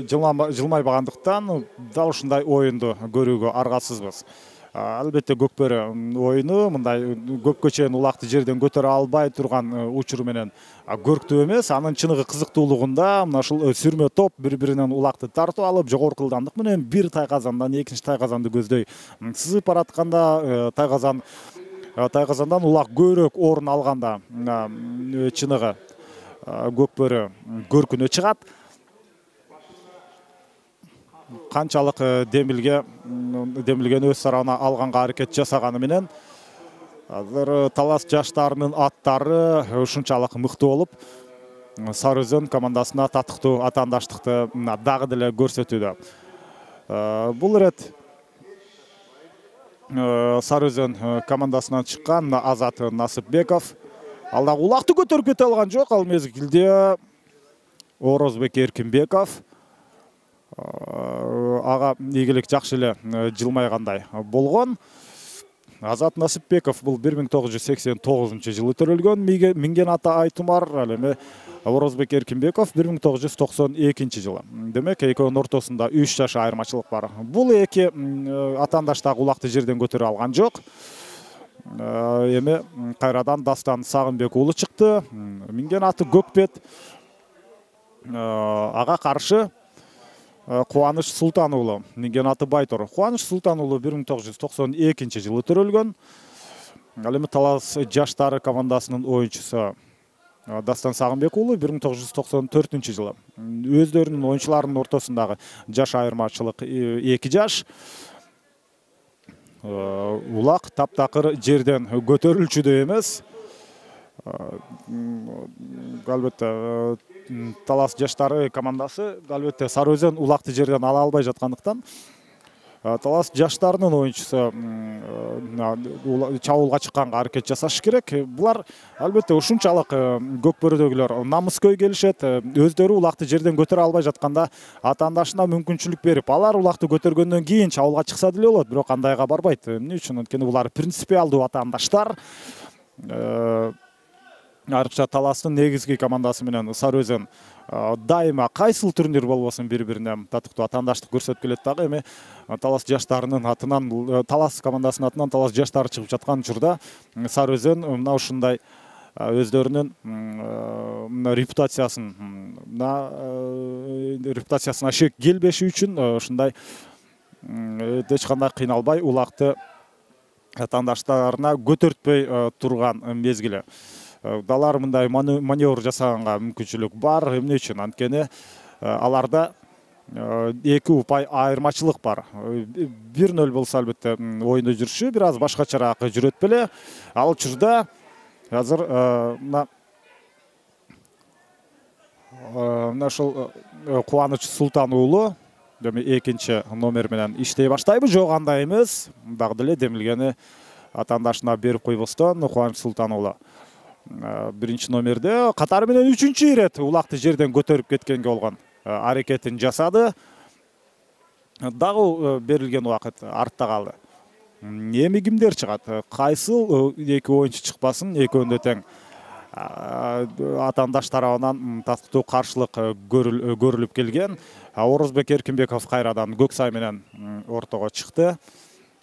жылмайбагандыктан дал ушундай оюнду көрүүгө аргасызбыз. Албетте көкбөрү оюну мындай көпкө чейин улакты жерден көтөрө албай турган учуру менен көрктүү эмес. Анын чыныгы кызыктуулугунда мына ушул сүрмө топ бири-биринен улакты тартып алып, жогорку ылдамдык менен бир тайказандан экинчи тайказанды көздөй сызып баратканда, тайказан тайказандан улак көбүрөөк орун алганда чыныгы көкбөрү көркүнө чыгат. Канчалык демилге демилгени өз сарабына алганга аракет жасаганы менен азыр Талас жаштарынын аттары ушунчалык мыкты болуп, Сары Өзөн командасына татыктуу атаандаштыкты дагы деле көрсөтүүдө. Бул ирет Сары Өзөн командасынан чыккан Азат Насипбеков ал дагы улакты көтөрүп кете алган жок. Ал мезгилде Орозбек Эркинбеков ага ийгилик жакшы эле жылмайгандай болгон. Азат Насипбеков бул бир миң тогуз жүз сексен тогузунчу жылы төрөлгөн. Минген аты Айтумар, ал эми Орозбек Эркинбеков бир миң тогуз жүз токсон экинчи жылы. Демек экөөнүн ортосунда үч жаш айырмачылык бар. Бул эки атаандаш дагы улакты жерден көтөрө алган жок. Эми кайрадан Дастан Сагынбек уулу чыкты. Минген аты Көкбет. Ага каршы Кубаныч Султан уулу, минген аты Байтор. Кубаныч Султан уулу бир миң тогуз жүз токсон экинчи жылы төрөлгөн. Ал эми Талас жаштары командасынын оюнчусу Дастан Сагынбек уулу бир миң тогуз жүз токсон төртүнчү жылы. Өздөрүнүн оюнчуларынын ортосундагы жаш айырмачылык эки жаш. Улак таптакыр жерден көтөрүлчүдө эмес. Албетте Талас жаштары командасы албетте Сары Өзөн улакты жерден ала албай жаткандыктан Талас жаштарынын оюнчусу чабуулга чыкканга аракет жасаш керек. Булар албетте ушунчалык көкбөрөдөгүлөр намыскөй келишет. Өздөрү улакты жерден көтөрө албай жатканда атаандашына мүмкүнчүлүк берип, алар улакты көтөргөндөн кийин чабуулга чыкса деле болот, бирок андайга барбайт. Эмне үчүн? Анткени булар принципиалдуу атаандаштар. Айрыкча Таластын негизги командасы менен Сары Өзөн дайыма кайсыл турнир болбосун бири-бирине татыктуу атаандаштык көрсөтүп келет дагы. Эми Талас жаштарынын атынан, Талас командасынын атынан Талас жаштары чыгып жаткан учурда Сары Өзөн мына ушундай өздөрүнүн репутациясын репутациясына шек келбеши үчүн ушундай эч кандай кыйналбай улакты атаандаштарына көтөртпөй турган мезгили. Далар мындай маневр жасаганга мүмкүнчүлүк бар. Эмне үчүн? Анткени аларда эки упай айырмачылык бар. бир нөл болсо албетте оюнду жүрүшү бир аз башкачараак жүрөт беле. Ал учурда азыр мына мына ушул Кубаныч Султан уулу эми экинчи номер менен иштей баштайбы, жок андай эмес. Дагы деле демилгени атаандашына берип койбостон Кубаныч Султан уулу биринчи номерде катары менен үчүнчү ирет улакты жерден көтөрүп кеткенге болгон аракетин жасады. Дагы берилген убакыт артта калды. Эми кимдер чыгат? Кайсыл эки оюнчу чыкпасын, экөөнү тең атаандаш тарабынан татыктуу каршылык көрүлүп келген. Орозбек Эркинбеков кайрадан Көксай менен ортого чыкты.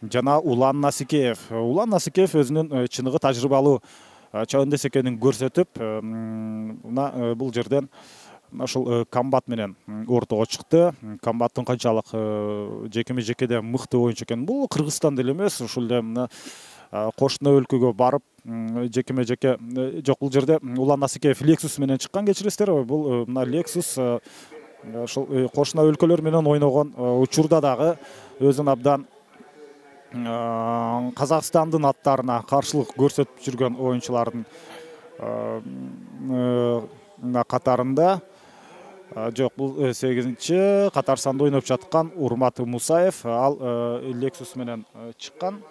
Жана Улан Насикеев. Улан Насикеев өзүнүн чыныгы тажрыйбалуу чабандес экенин көрсөтүп, мына бул жерден ушул Комбат менен ортого чыкты. Комбаттын канчалык жекеме жекеде мыкты оюнчу экенин, бул Кыргызстан деле эмес, ушул эле мына кошуна өлкөгө барып жекеме жеке, жок, бул жерде Улан Насикеев Lexus менен чыккан, кечиресиздер. Бул мына Lexus ушул кошуна өлкөлөр менен ойногон учурда дагы өзүн абдан Казакстандын аттарына каршылык көрсөтүп жүргөн оюнчулардын катарында. Жок, бул сегизинчи катар санда ойноп жаткан Урмат Мусаев, ал Lexus менен чыккан.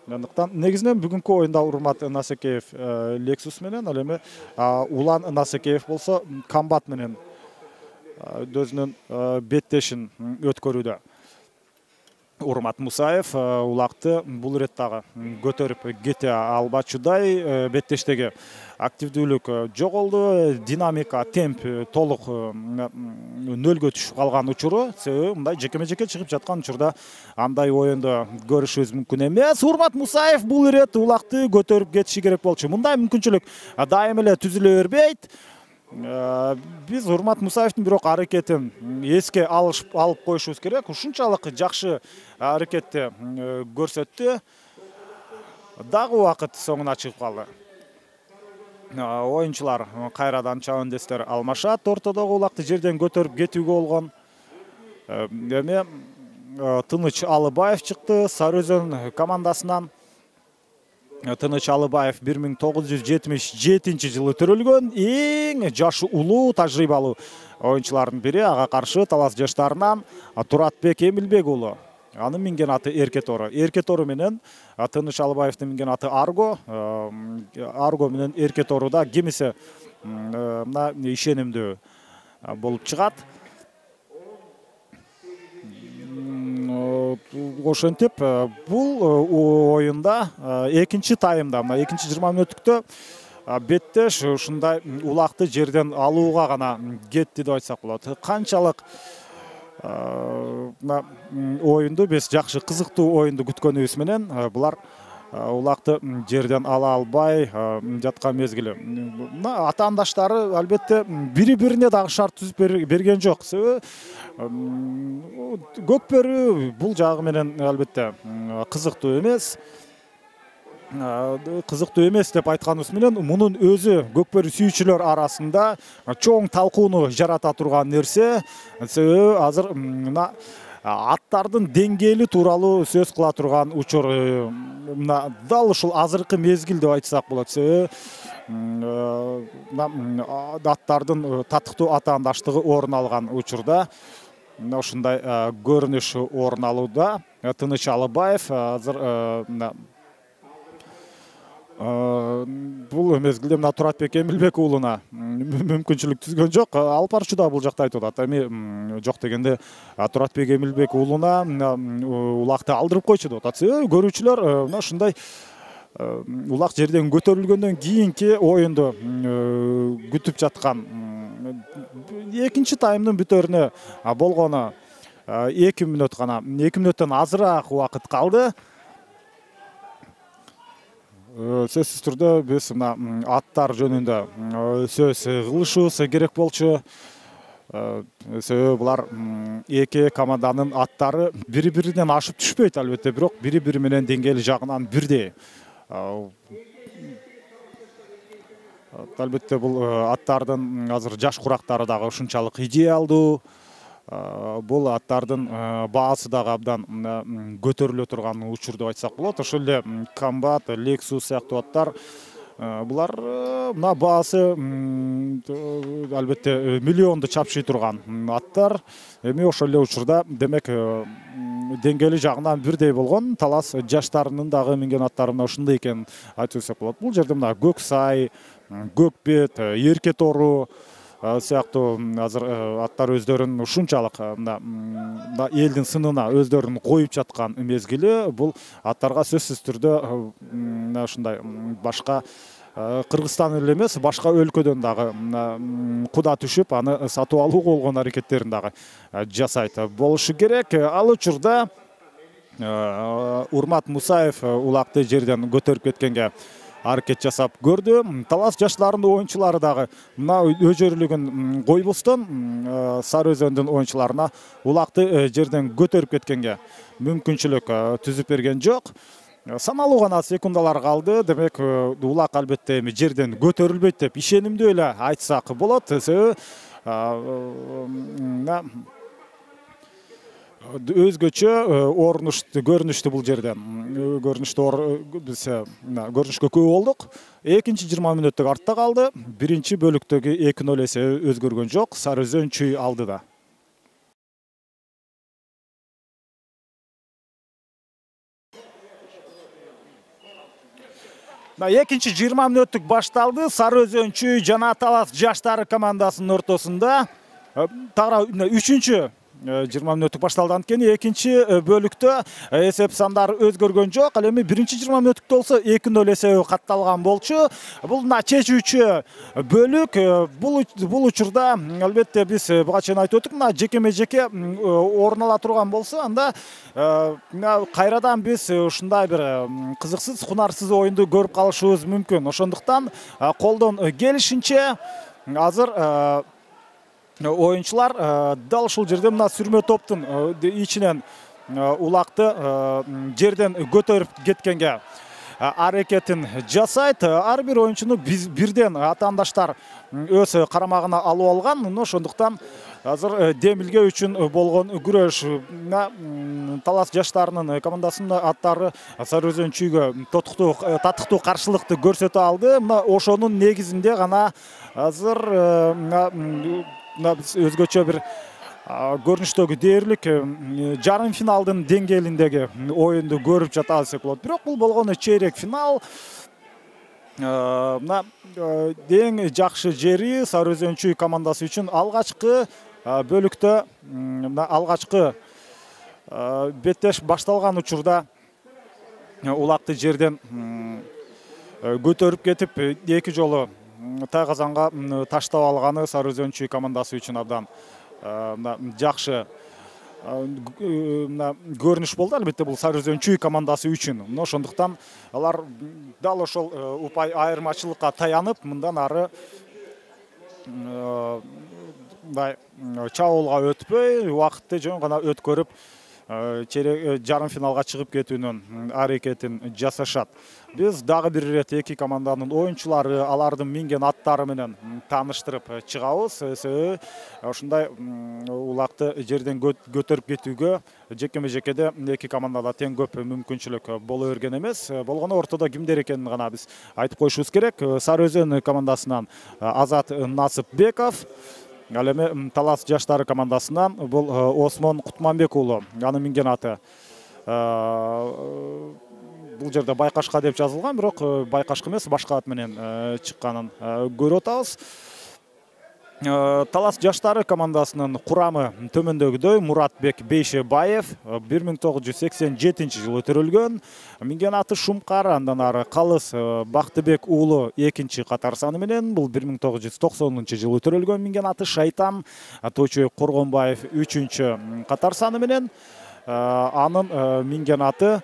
Андыктан негизинен бүгүнкү оюнда Урмат Насикеев Lexus менен, ал эми Улан Насикеев болсо Комбат менен өзүнүн беттешин өткөрүүдө. Урмат Мусаев улакты бул ирет дагы көтөрүп кете албачудай, беттештеги активдүүлүк жоголду, динамика, темп толук нөлгө түшүп калган учуру. Себеби мындай жекеме жеке чыгып жаткан учурда андай оюнду көрүшүбүз мүмкүн эмес. Урмат Мусаев бул ирет улакты көтөрүп кетиши керек болчу. Мындай мүмкүнчүлүк дайым эле түзүлө бербейт. Биз Урмат Мусаевдин бирок аракетин эске алып коюшубуз керек. Ушунчалык жакшы аракетти көрсөттү. Дагы убакыт соңуна чыгып калды. Оюнчулар кайрадан чабандестер алмашат. Ортодогу улакты жерден көтөрүп кетүүгө болгон. Эми Тыныч Алыбаев чыкты Сары Өзөн командасынан. Тыныч Алыбаев бир миң тогуз жүз жетимиш жетинчи жылы төрөлгөн, эң жашы улуу, тажрыйбалуу оюнчулардын бири. Ага каршы Талас жаштарынан Туратбек Эмилбек уулу. Анын минген аты Эркетору. Эркетору менен Тыныч Алыбаевдин минген аты Арго. Арго менен Эркеторуда кимиси мына ишенимдүү болуп чыгат. Ошентип бул оюнда экинчи таймда, мына экинчи жыйырма мүнөттүктө беттеш ушундай улакты жерден алууга гана кетти деп айтсак болот. Канчалык мына оюнду биз жакшы, кызыктуу оюнду күткөнүбүз менен булар улакты жерден ала албай жаткан мезгили. Мына атаандаштары албетте бири-бирине дагы шарт түзүп берген жок. Себеби көкбөрү бул жагы менен албетте кызыктуу эмес. Кызыктуу эмес деп айтканыбыз менен мунун өзү көкбөрү сүйүүчүлөр арасында чоң талкууну жарата турган нерсе. Себеби азыр мына аттардын деңгээли тууралуу сөз кыла турган учур мына дал ушул азыркы мезгил деп айтсак болот. Себеби аттардын татыктуу атаандаштыгы орун алган учурда мына ушундай көрүнүш орун алууда. Тыныч Алыбаев азыр бул мезгилде мына Туратбек Эмилбек уулуна мүмкүнчүлүк түзгөн жок. Алып барчу да бул жакта айтып атат. Эми жок дегенде Туратбек Эмилбек уулуна улакты алдырып койчу деп атат. Көрүүчүлөр мына ушундай улак жерден көтөрүлгөндөн кийинки оюнду күтүп жаткан экинчи таймдын бүтөрүнө болгону эки мүнөт гана, эки мүнөттөн азыраак убакыт калды. Сөзсүз түрдө биз мына аттар жөнүндө сөз кылышыбыз керек болчу. Себеби булар эки команданын аттары бири-биринен ашып түшпөйт албетте, бирок бири-бири менен деңгээли жагынан бирдей. Албетте бул аттардын азыр жаш курактары дагы ушунчалык идеалдуу. Бул аттардын баасы дагы абдан көтөрүлө турган учур деп айтсак болот. Ошол эле Комбат, Lexus сыяктуу аттар булар мына баасы албетте миллионду чапшый турган аттар. Эми ошол эле учурда демек деңгээли жагынан бирдей болгон талас жаштарынын дагы минген аттары мына ушундай экенин айтып өтсөк болот. Бул жерде мына Көксай, Көкбет, Эрке тору сыяктуу азыр аттар өздөрүн ушунчалык мына элдин сынына өздөрүн коюп жаткан мезгили. Бул аттарга сөзсүз түрдө мына ушундай башка Кыргызстан эле эмес, башка өлкөдөн дагы куда түшүп, аны сатып алууга болгон аракеттерин дагы жасайт болушу керек. Ал учурда Урмат Мусаев улакты жерден көтөрүп кеткенге аракет жасап көрдү. Талас жаштарынын оюнчулары дагы мына өжөрүлүгүн койбостон Сары Өзөндүн оюнчуларына улакты жерден көтөрүп кеткенге мүмкүнчүлүк түзүп берген жок. Саналуу гана секундалар калды. Демек улак албетте эми жерден көтөрүлбөйт деп ишенимдүү эле айтсак болот. Себеби өзгөчө орнуштуу көрүнүштүү бул жерден. Көрүнүштүү биз көрүнүшкө күбө болдук. Экинчи жыйырма мүнөттүк артта калды. Биринчи бөлүктөгү эки нөл эсеби өзгөргөн жок. Сары Өзөн чүй алдыда. Экинчи жыйырма мүнөттүк башталды. Сары Өзөн чүй жана Талас жаштары командасынын ортосунда. Тагыра үчүнчү жыйырма мүнөттүк башталды. Анткени экинчи бөлүктө эсеп сандары өзгөргөн жок. Ал эми биринчи жыйырма мүнөттүктө болсо эки нөл эсеби катталган болчу. Бул мына чечүүчү бөлүк. Бул учурда албетте биз буга чейин айтып өттүк, мына жекеме-жеке орун ала турган болсо, анда кайрадан биз ушундай бир кызыксыз, хунарсыз оюнду көрүп калышыбыз мүмкүн. Ошондуктан колдон келишинче азыр оюнчулар дал ушул жерде мына сүрмө топтун ичинен улакты жерден көтөрүп кеткенге аракетин жасайт. Ар бир оюнчуну бирден атаандаштар өз карамагына алып алган. Ошондуктан азыр демилге үчүн болгон күрөш Талас жаштарынын командасынын аттары Сары Өзөн чүйгө татыктуу каршылыкты көрсөтө алды. Мына ошонун негизинде гана азыр биз өзгөчө бир көрүнүштөгү дээрлик жарым финалдын деңгээлиндеги оюнду көрүп жатабыз десек болот. Бирок бул болгону чейрек финал. Мына эң жакшы жери Сары Өзөн чүй командасы үчүн алгачкы бөлүктө мына алгачкы беттеш башталган учурда улакты жерден көтөрүп кетип эки жолу тайгазанга таштап алганы Сары Өзөн чүй командасы үчүн абдан жакшы көрүнүш болду. Албетте бул Сары Өзөн чүй командасы үчүн. Ошондуктан алар дал ошол упай айырмачылыкка таянып, мындан ары мындай чабуулга өтпөй, убакытты жөн гана өткөрүп жарым финалга чыгып кетүүнүн аракетин жасашат. Биз дагы бир ирет эки команданын оюнчулары, алардын минген аттары менен тааныштырып чыгабыз. Себеби ушундай улакты жерден көтөрүп кетүүгө жекеме-жекеде эки командада тең көп мүмкүнчүлүк боло берген эмес. Болгону ортодо кимдер экенин гана биз айтып коюшубуз керек. Сары Өзөн командасынан Азат Насыпбеков, ал эми Талас жаштары командасынан бул Осмон Кутманбек уулу, анын минген аты бул жерде Байкашка деп жазылган, бирок Байкашка эмес, башка ат менен чыкканын көрүп атабыз. Талас жаштары командасынын курамы төмөндөгүдөй: Муратбек Бейшебаев бир миң тогуз жүз сексен жетинчи жылы төрөлгөн, минген аты Шумкар. Андан ары Калыс Бактыбек уулу экинчи катар саны менен, бул бир миң тогуз жүз токсонунчу жылы төрөлгөн, минген аты Шайтан Тойчубек Коргонбаев үчүнчү катар саны менен. Анын минген аты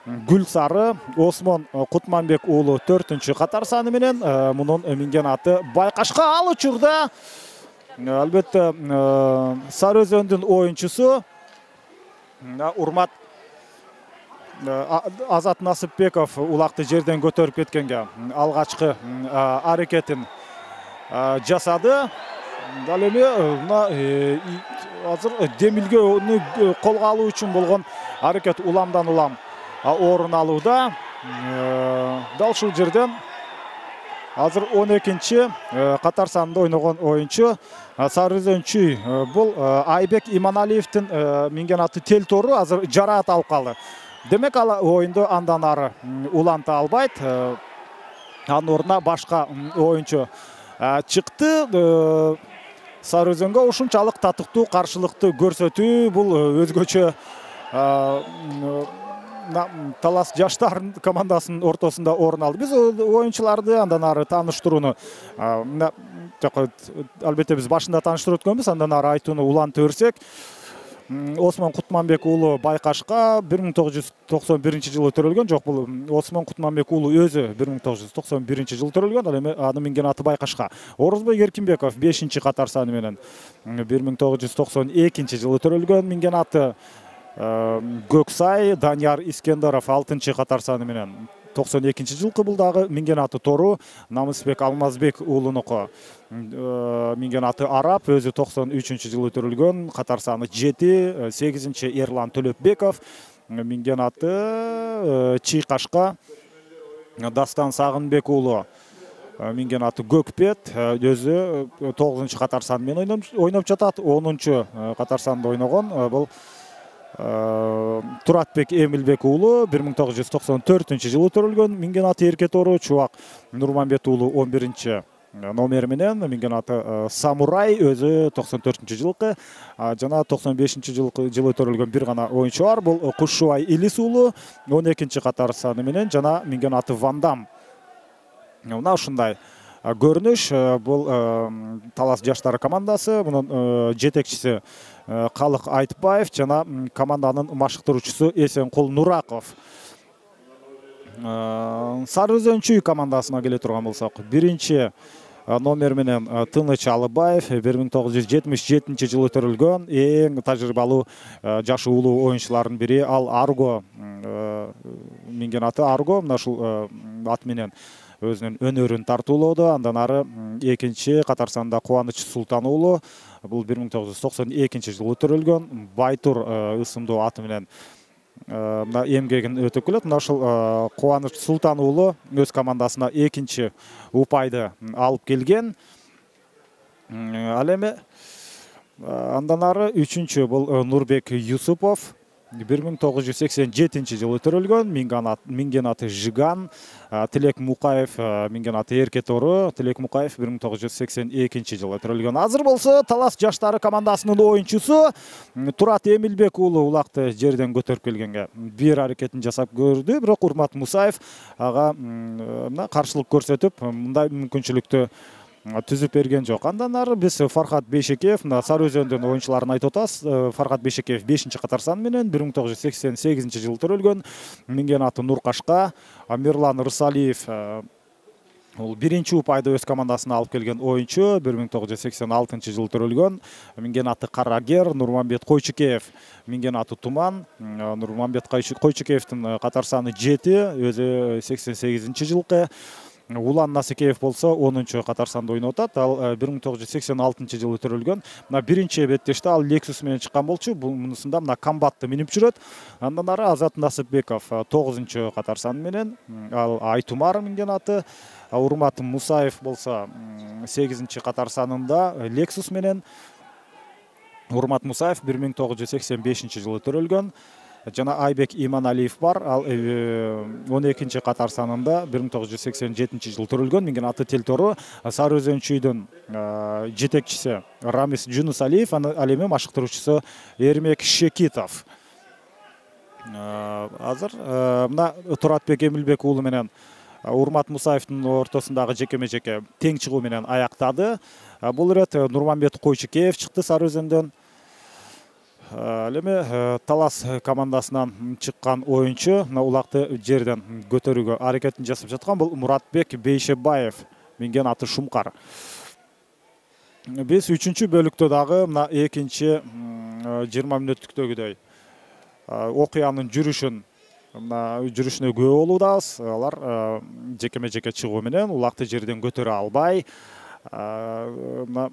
Гүлсары Осмон Кутманбек уулу төртүнчү катар саны менен. Мунун минген аты Байкашка. Ал учурда албетте Сары Өзөндүн оюнчусу урмат Азат Насыпбеков улакты жерден көтөрүп кеткенге алгачкы аракетин жасады. Ал эми мына азыр демилгени колго алуу үчүн болгон аракет уламдан улам орун алууда. Дал ушул жерден азыр он экинчи катар санында ойногон оюнчу Сары Өзөнчү бул Айбек Иманалиевдин минген аты Телтору азыр жараат алып калды. Демек ал оюнду андан ары уланта албайт. Анын ордуна башка оюнчу чыкты. Сары Өзөнгө ушунчалык татыктуу каршылыкты көрсөтүү бул өзгөчө Талас жаштар командасынын ортосунда орун алды. Биз оюнчуларды андан ары тааныштырууну албетте биз башында тааныштырып өткөнбүз, андан ары айтууну улантып берсек, Осмон Кутманбек уулу Байкашка бир миң тогуз жүз токсон биринчи жылы төрөлгөн. Жок, бул Осмон Кутманбек уулу өзү бир миң тогуз жүз токсон биринчи жылы төрөлгөн. Ал эми анын минген аты Байкашка. Орозбой Эркинбеков бешинчи катар саны менен бир миң тогуз жүз токсон экинчи жылы төрөлгөн. Минген аты Көксай Данияр Искендеров алтынчы катар саны менен токсон экинчи жылкы. Бул дагы минген аты Тору Намысбек Алмазбек уулунуку. Минген аты Арап өзү токсон үчүнчү жылы төрөлгөн. Катар саны жети. сегизинчи Эрлан Төлөпбеков минген аты Чыйкашка Дастан Сагынбек уулу минген аты Көкпет өзү тогузунчу катар саны менен ойноп жатат. онунчу катар санда ойногон бул Туратбек Эмилбек уулу бир миң тогуз жүз токсон төртүнчү жылы төрөлгөн. Минген аты Эркетору Чубак Нурманбет уулу он биринчи номер менен. Минген аты Самурай өзү токсон төртүнчү жылкы. Жана токсон бешинчи жылы төрөлгөн бир гана оюнчу бар. Бул Кушубай Илис уулу он экинчи катар саны менен. Жана минген аты Вандам. Мына ушундай көрүнүш. Бул Талас жаштары командасы. Мунун жетекчиси Калык Айтбаев жана команданын машыктыруучусу Эсенкул Нураков. Сары Өзөнчү командасына келе турган болсок, биринчи номер менен Тыныч Алыбаев бир миң тогуз жүз жетимиш жетинчи жылы төрөлгөн. Эң тажрыйбалуу жашы улуу оюнчулардын бири. Ал Арго минген аты Арго. Мына ушул ат менен өзүнүн өнөрүн тартуулоодо. Андан ары экинчи катар санда Кубаныч Султан уулу. Бул бир миң тогуз жүз токсон экинчи жылы төрөлгөн. Байтур ысымдуу аты менен мына эмгегин өтөп келет. Мына ушул Кубаныч Султан уулу өз командасына экинчи упайды алып келген. Ал эми андан ары үчүнчү бул Нурбек Юсупов бир миң тогуз жүз сексен жетинчи жылы төрөлгөн. Минген аты Жиган. Тилек Мукаев минген аты Эркетору. Тилек Мукаев бир миң тогуз жүз сексен экинчи жылы төрөлгөн. Азыр болсо Талас жаштары командасынын оюнчусу Турат Эмилбек уулу улакты жерден көтөрүп келгенге бир аракетин жасап көрдү. Бирок Урмат Мусаев ага мына каршылык көрсөтүп, мындай мүмкүнчүлүктү түзүп берген жок. Андан ары биз Фархат Бейшекеев, Сары Өзөндүн оюнчуларын айтып атабыз. Фархат Бейшекеев бешинчи катар саны менен бир миң тогуз жүз сексен сегизинчи жылы төрөлгөн. Минген аты Нуркашка. Мирлан Рысалиев ол биринчи упайды өз командасына алып келген оюнчу. бир миң тогуз жүз сексен алтынчы жылы төрөлгөн. Минген аты Карагер. Нурманбет Койчукеев минген аты Туман. Нурманбет Койчукеевдин катар саны жети, өзү сексен сегизинчи жылкы. Улан Насикеев болсо онунчу катар санда ойноп атат. Ал бир миң тогуз жүз сексен алтынчы жылы төрөлгөн. Мына биринчи беттеште ал Lexus менен чыккан болчу. Мунусунда мына комбатты минип жүрөт. Андан ары Азат Насыпбеков тогузунчу катар саны менен. Ал Айтумар минген аты. Урмат Мусаев болсо сегизинчи катар санында Lexus менен. Урмат Мусаев бир миң тогуз жүз сексен бешинчи жылы төрөлгөн. жана Айбек Иманалиев бар. Ал он экинчи катар санында бир миң тогуз жүз сексен жетинчи жылы төрөлгөн. Менин аты Телтору. Сары Өзөнчүйдүн жетекчиси Рамис Жунусалиев, ал эми машыктыруучусу Эрмек Шекитов. Азыр мына Туратбек Эмилбек уулу менен Урмат Мусаевдин ортосундагы жекеме-жеке тең чыгуу менен аяктады. Бул ирет Нурманбет Койчукеев чыкты Сары Өзөндөн. Ал эми Талас командасынан чыккан оюнчу улакты жерден көтөрүүгө аракетин жасап жаткан бул Муратбек Бейшебаев, менин аты Шумкар. Биз үчүнчү бөлүктө дагы мына экинчи жыйырма мүнөттүктөгүдөй окуянын жүрүшүн мына жүрүшүнө күбө болуудабыз. Алар жекеме-жеке чыгуу менен улакты жерден көтөрө албай, мына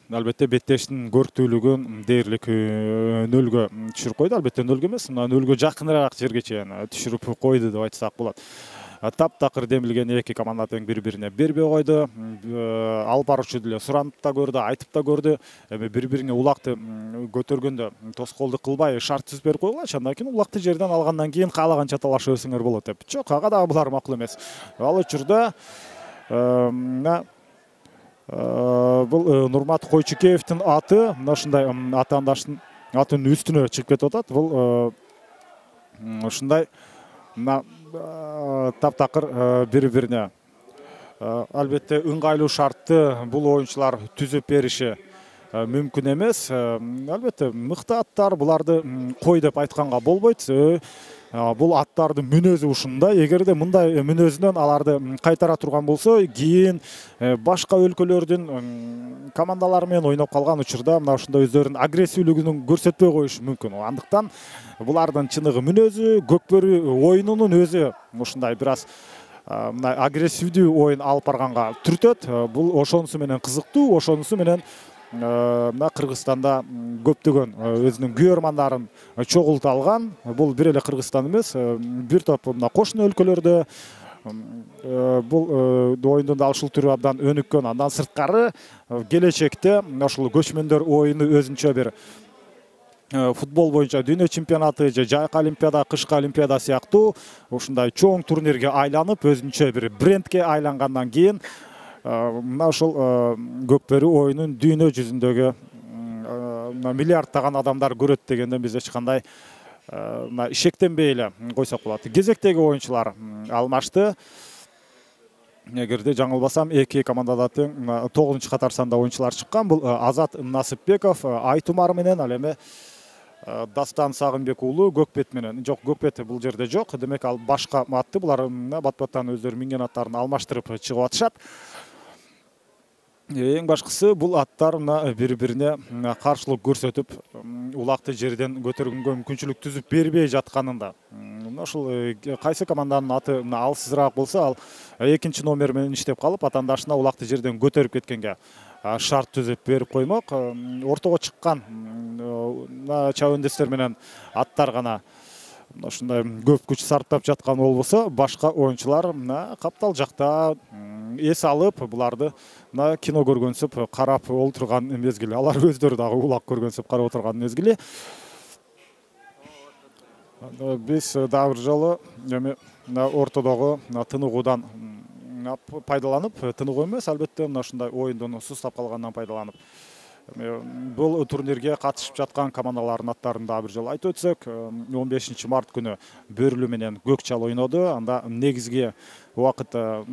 албетте беттештин көрктүүлүгүн дээрлик нөлгө түшүрүп койду. Албетте нөлгө эмес, мына нөлгө жакыныраак жерге чейин түшүрүп койду деп айтсак болот. Таптакыр демилген эки команда тең бири-бирине бербей койду. Алып баруучу деле суранып да көрдү, айтып да көрдү. Эми бири-бирине улакты көтөргөндө тоскоолдук кылбай шарт түзүп берип койгулачы. Андан кийин улакты жерден алгандан кийин каалаганча талашып өсүңөр болот деп. Жок, ага дагы булар макул эмес. Ал учурда бул Нурмат Койчукеевдин аты мына ушундай атаандаштын атынын үстүнө чыгып кетип атат. Бул ушундай мына таптакыр бири-бирине албетте ыңгайлуу шартты бул оюнчулар түзүп бериши мүмкүн эмес. Албетте мыкты аттар, буларды кой деп айтканга болбойт. Бул аттардын мүнөзү ушундай. Эгерде мындай мүнөзүнөн аларды кайтара турган болсо, кийин башка өлкөлөрдүн командалары менен ойноп калган учурда мына ушундай өздөрүнүн агрессивдүүлүгүн көрсөтпөй коюшу мүмкүн. Андыктан булардын чыныгы мүнөзү, көкбөрү оюнунун өзү ушундай бир аз мына агрессивдүү оюн алып барганга түртөт. Бул ошонусу менен кызыктуу, ошонусу менен мына Кыргызстанда көптөгөн өзүнүн күйөрмандарын чогулта алган. Бул бир эле Кыргызстан эмес, бир топ мына кошуна өлкөлөрдө бул оюндун да ушул түрү абдан өнүккөн. Андан сырткары келечекте ушул көчмөндөр оюну өзүнчө бир футбол боюнча дүйнө чемпионаты же жайкы олимпиада, кышкы олимпиада сыяктуу ушундай чоң турнирге айланып, өзүнчө бир брендке айлангандан кийин мына ушул көкбөрү оюнун дүйнө жүзүндөгү миллиарддаган адамдар көрөт дегенден биз эч кандай шектенбей эле койсок болот. Кезектеги оюнчулар алмашты. Эгерде жаңылбасам, эки командада тең тогузунчу катар санда оюнчулар чыккан. Бул Азат Насыпбеков Айтумар менен, ал эми Дастан Сагынбек уулу Көкбет менен. Жок, Көкбет бул жерде жок. Демек ал башка атты. Булар бат-баттан өздөрү минген аттарын алмаштырып чыгып атышат. Эң башкысы бул аттар мына бири-бирине каршылык көрсөтүп, улакты жерден көтөргөнгө мүмкүнчүлүк түзүп бербей жатканында. Мына ушул кайсы команданын аты алсызыраак болсо, ал экинчи номер менен иштеп калып, атаандашына улакты жерден көтөрүп кеткенге шарт түзүп берип коймок. Ортого чыккан чабандестер менен аттар гана ушундай көп күч сарптап жаткан болбосо, башка оюнчулар мына каптал жакта эс алып, буларды мына кино көргөнсүп карап олтурган мезгили, алар өздөрү дагы улак көргөнсүп карап отурган мезгили. Биз дагы бир жолу эми ортодогу тыныгуудан пайдаланып, тыныгуу эмес, албетте мына ушундай оюндун сустап калганынан пайдаланып, бул турнирге катышып жаткан командалардын аттарын дагы бир жолу айтып өтсөк, он бешинчи март күнү Бөрүлү менен Көкчал ойноду. Анда негизги убакытта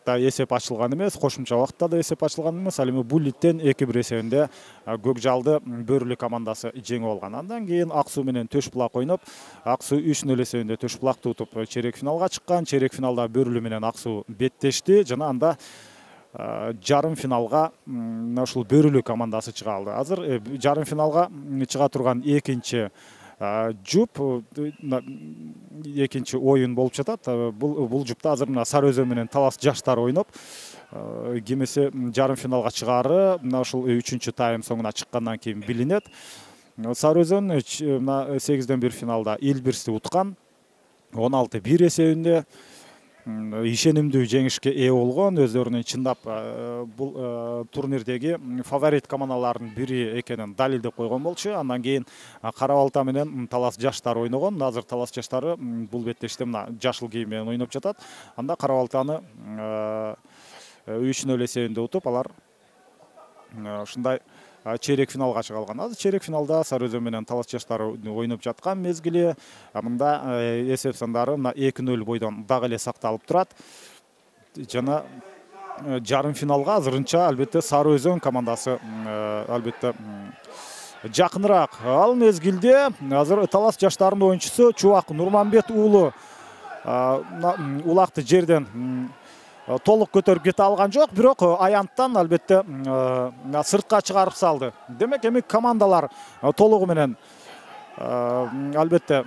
да эсеп ачылган эмес, кошумча убакытта да эсеп ачылган эмес. Ал эми Буллиттен эки бир эсебинде Көкжалды Бөрүлү командасы жеңип алган. Андан кийин Ак Суу менен Төш Булак ойноп, Ак Суу үч нөл эсебинде Төш Булакты утуп чейрек финалга чыккан. Чейрек финалда Бөрүлү менен Ак Суу беттешти жана анда жарым финалга ушул Бөрүлү командасы чыга алды. Азыр жарым финалга чыга турган экинчи жуп, экинчи оюн болуп жатат. Бул бул жупта азыр мына Сары Өзөн менен Талас жаштар ойноп, кимиси жарым финалга чыгары мына ушул үчүнчү тайм соңуна чыккандан кийин билинет. Сары Өзөн мына сегизден бир финалда Элбирсти уткан, он алты бир эсебинде. ишенимдүү жеңишке ээ болгон, өздөрүнүн чындап бул турнирдеги фаворит командалардын бири экенин далилдеп койгон болчу. Андан кийин Кара балта менен Талас жаштары ойногон. Азыр Талас жаштары бул беттеште мына жашыл кийим менен ойноп жатат. Анда Кара балтаны үч нөл эсебинде утуп, алар ушундай чейрек финалга чыга алган. Азыр чейрек финалда Сары Өзөн менен Талас жаштары ойноп жаткан мезгили. Мында эсеп сандары мына эки нөл бойдон дагы эле сакталып турат. Жана жарым финалга азырынча албетте Сары Өзөн командасы албетте жакыныраак. Ал мезгилде азыр Талас жаштарынын оюнчусу Чубак Нурманбет уулу улакты жерден толук көтөрүп кете алган жок, бирок аянттан албетте сыртка чыгарып салды. Демек эми командалар толугу менен албетте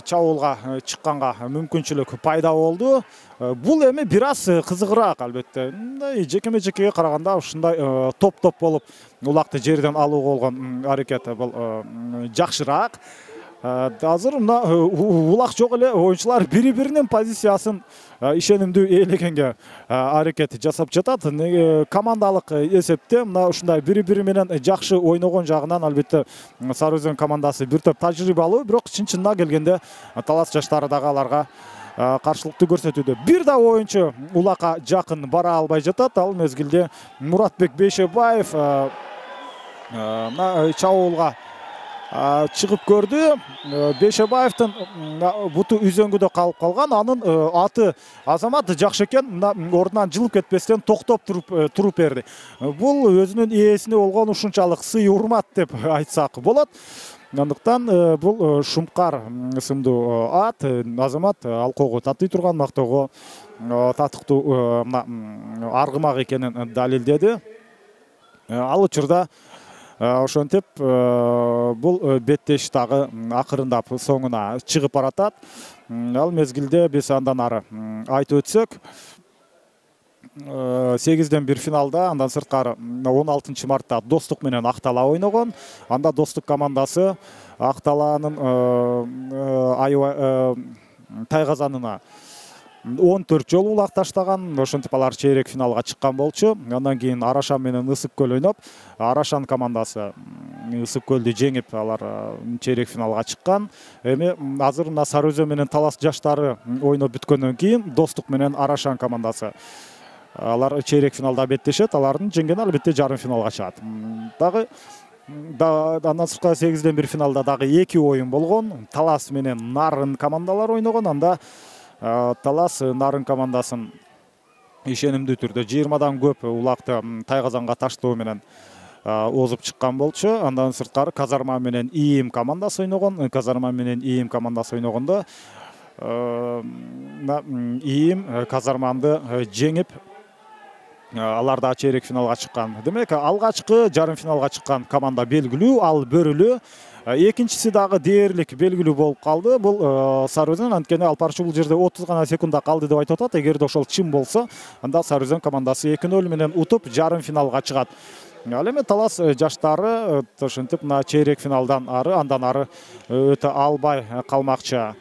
чабуулга чыкканга мүмкүнчүлүк пайда болду. Бул эми бир аз кызыгыраак албетте. Жекеме жекеге караганда ушундай топ-топ болуп улакты жерден алууга болгон аракет бул жакшыраак. Азыр мына улак жок эле оюнчулар бири-биринин позициясын ишенимдүү ээлегенге аракет жасап жатат. Командалык эсепте мына ушундай бири-бири менен жакшы ойногон жагынан албетте Сары Өзөн командасы бир топ тажрыйбалуу, бирок чын-чынына келгенде Талас жаштары дагы аларга каршылыктуу көрсөтүүдө. Бир да оюнчу улакка жакын бара албай жатат. Ал мезгилде Муратбек Бейшебаев мына чабуулга чыгып көрдү. Бейшебаевдин буту үзөңгүдө калып калган. Анын аты Азамат Жакшекен мына ордунан жылып кетпестен токтоп туруп туруп берди. Бул өзүнүн ээсине болгон ушунчалык сый урмат деп айтсак болот. Андыктан бул Шумкар ысымдуу ат Азамат алкоого татый турган, мактоого татыктуу аргымак экенин далилдеди. Ал учурда ошентип бул беттеш дагы акырындап соңуна чыгып баратат. Ал мезгилде биз андан ары айтып өтсөк, сегизден бир финалда, андан сырткары он алтынчы мартта Достук менен Актала ойногон. Анда Достук командасы Акталанын аябай тайгазанына он төрт жолу улак таштаган. Ошентип алар чейрек финалга чыккан болчу. Андан кийин Арашан менен Ысык көл ойноп, Арашан командасы Ысык көлдү жеңип, алар чейрек финалга чыккан. Эми азыр мына Сары Өзөн менен Талас жаштары ойноп бүткөндөн кийин Достук менен Арашан командасы алар чейрек финалда беттешет. Алардын жеңгени албетте жарым финалга чыгат. Дагы андан сырткары сегизден бир финалда дагы эки оюн болгон. Талас менен Нарын командалар ойногон. Анда Талас Нарын командасын ишенимдүү түрдө жыйырмадан көп улакты тайгазанга таштоо менен озуп чыккан болчу. Андан сырткары Казарма менен ИИМ командасы ойногон. Казарма менен ИИМ командасы ойногондо ИИМ Казарманды жеңип, алар да чейрек финалга чыккан. Демек алгачкы жарым финалга чыккан команда белгилүү, ал Бөрүлүү. Экинчиси дагы дээрлик белгилүү болуп калды. Бул Сары Өзөн, анткени Алпарчу бул жерде отуз гана секундда калды деп айтып атат. Эгерде ошол чын болсо, анда Сары Өзөн командасы эки нөл менен утуп жарым финалга чыгат. Ал эми Талас жаштары ошентип мына чейрек финалдан ары, андан ары өтө албай калмакчы.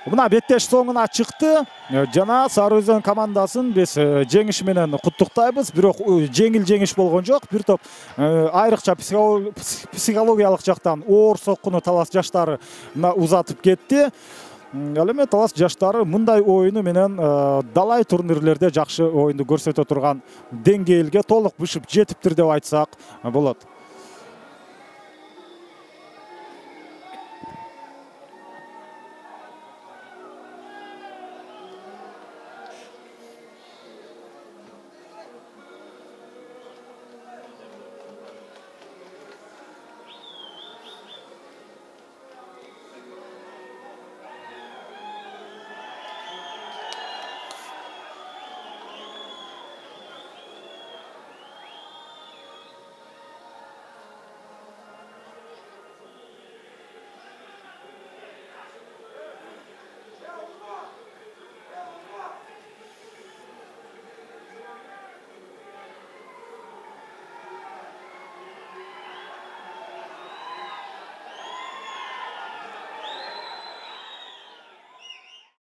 Мына беттеш соңуна чыкты. Жана Сары Өзөн командасын биз жеңиш менен куттуктайбыз. Бирок жеңил жеңиш болгон жок. Бир топ айрыкча психологиялык жактан оор соккуну Талас жаштары узатып кетти. Ал эми Талас жаштары мындай оюну менен далай турнирлерде жакшы оюнду көрсөтө турган деңгээлге толук бышып жетиптир деп айтсак болот.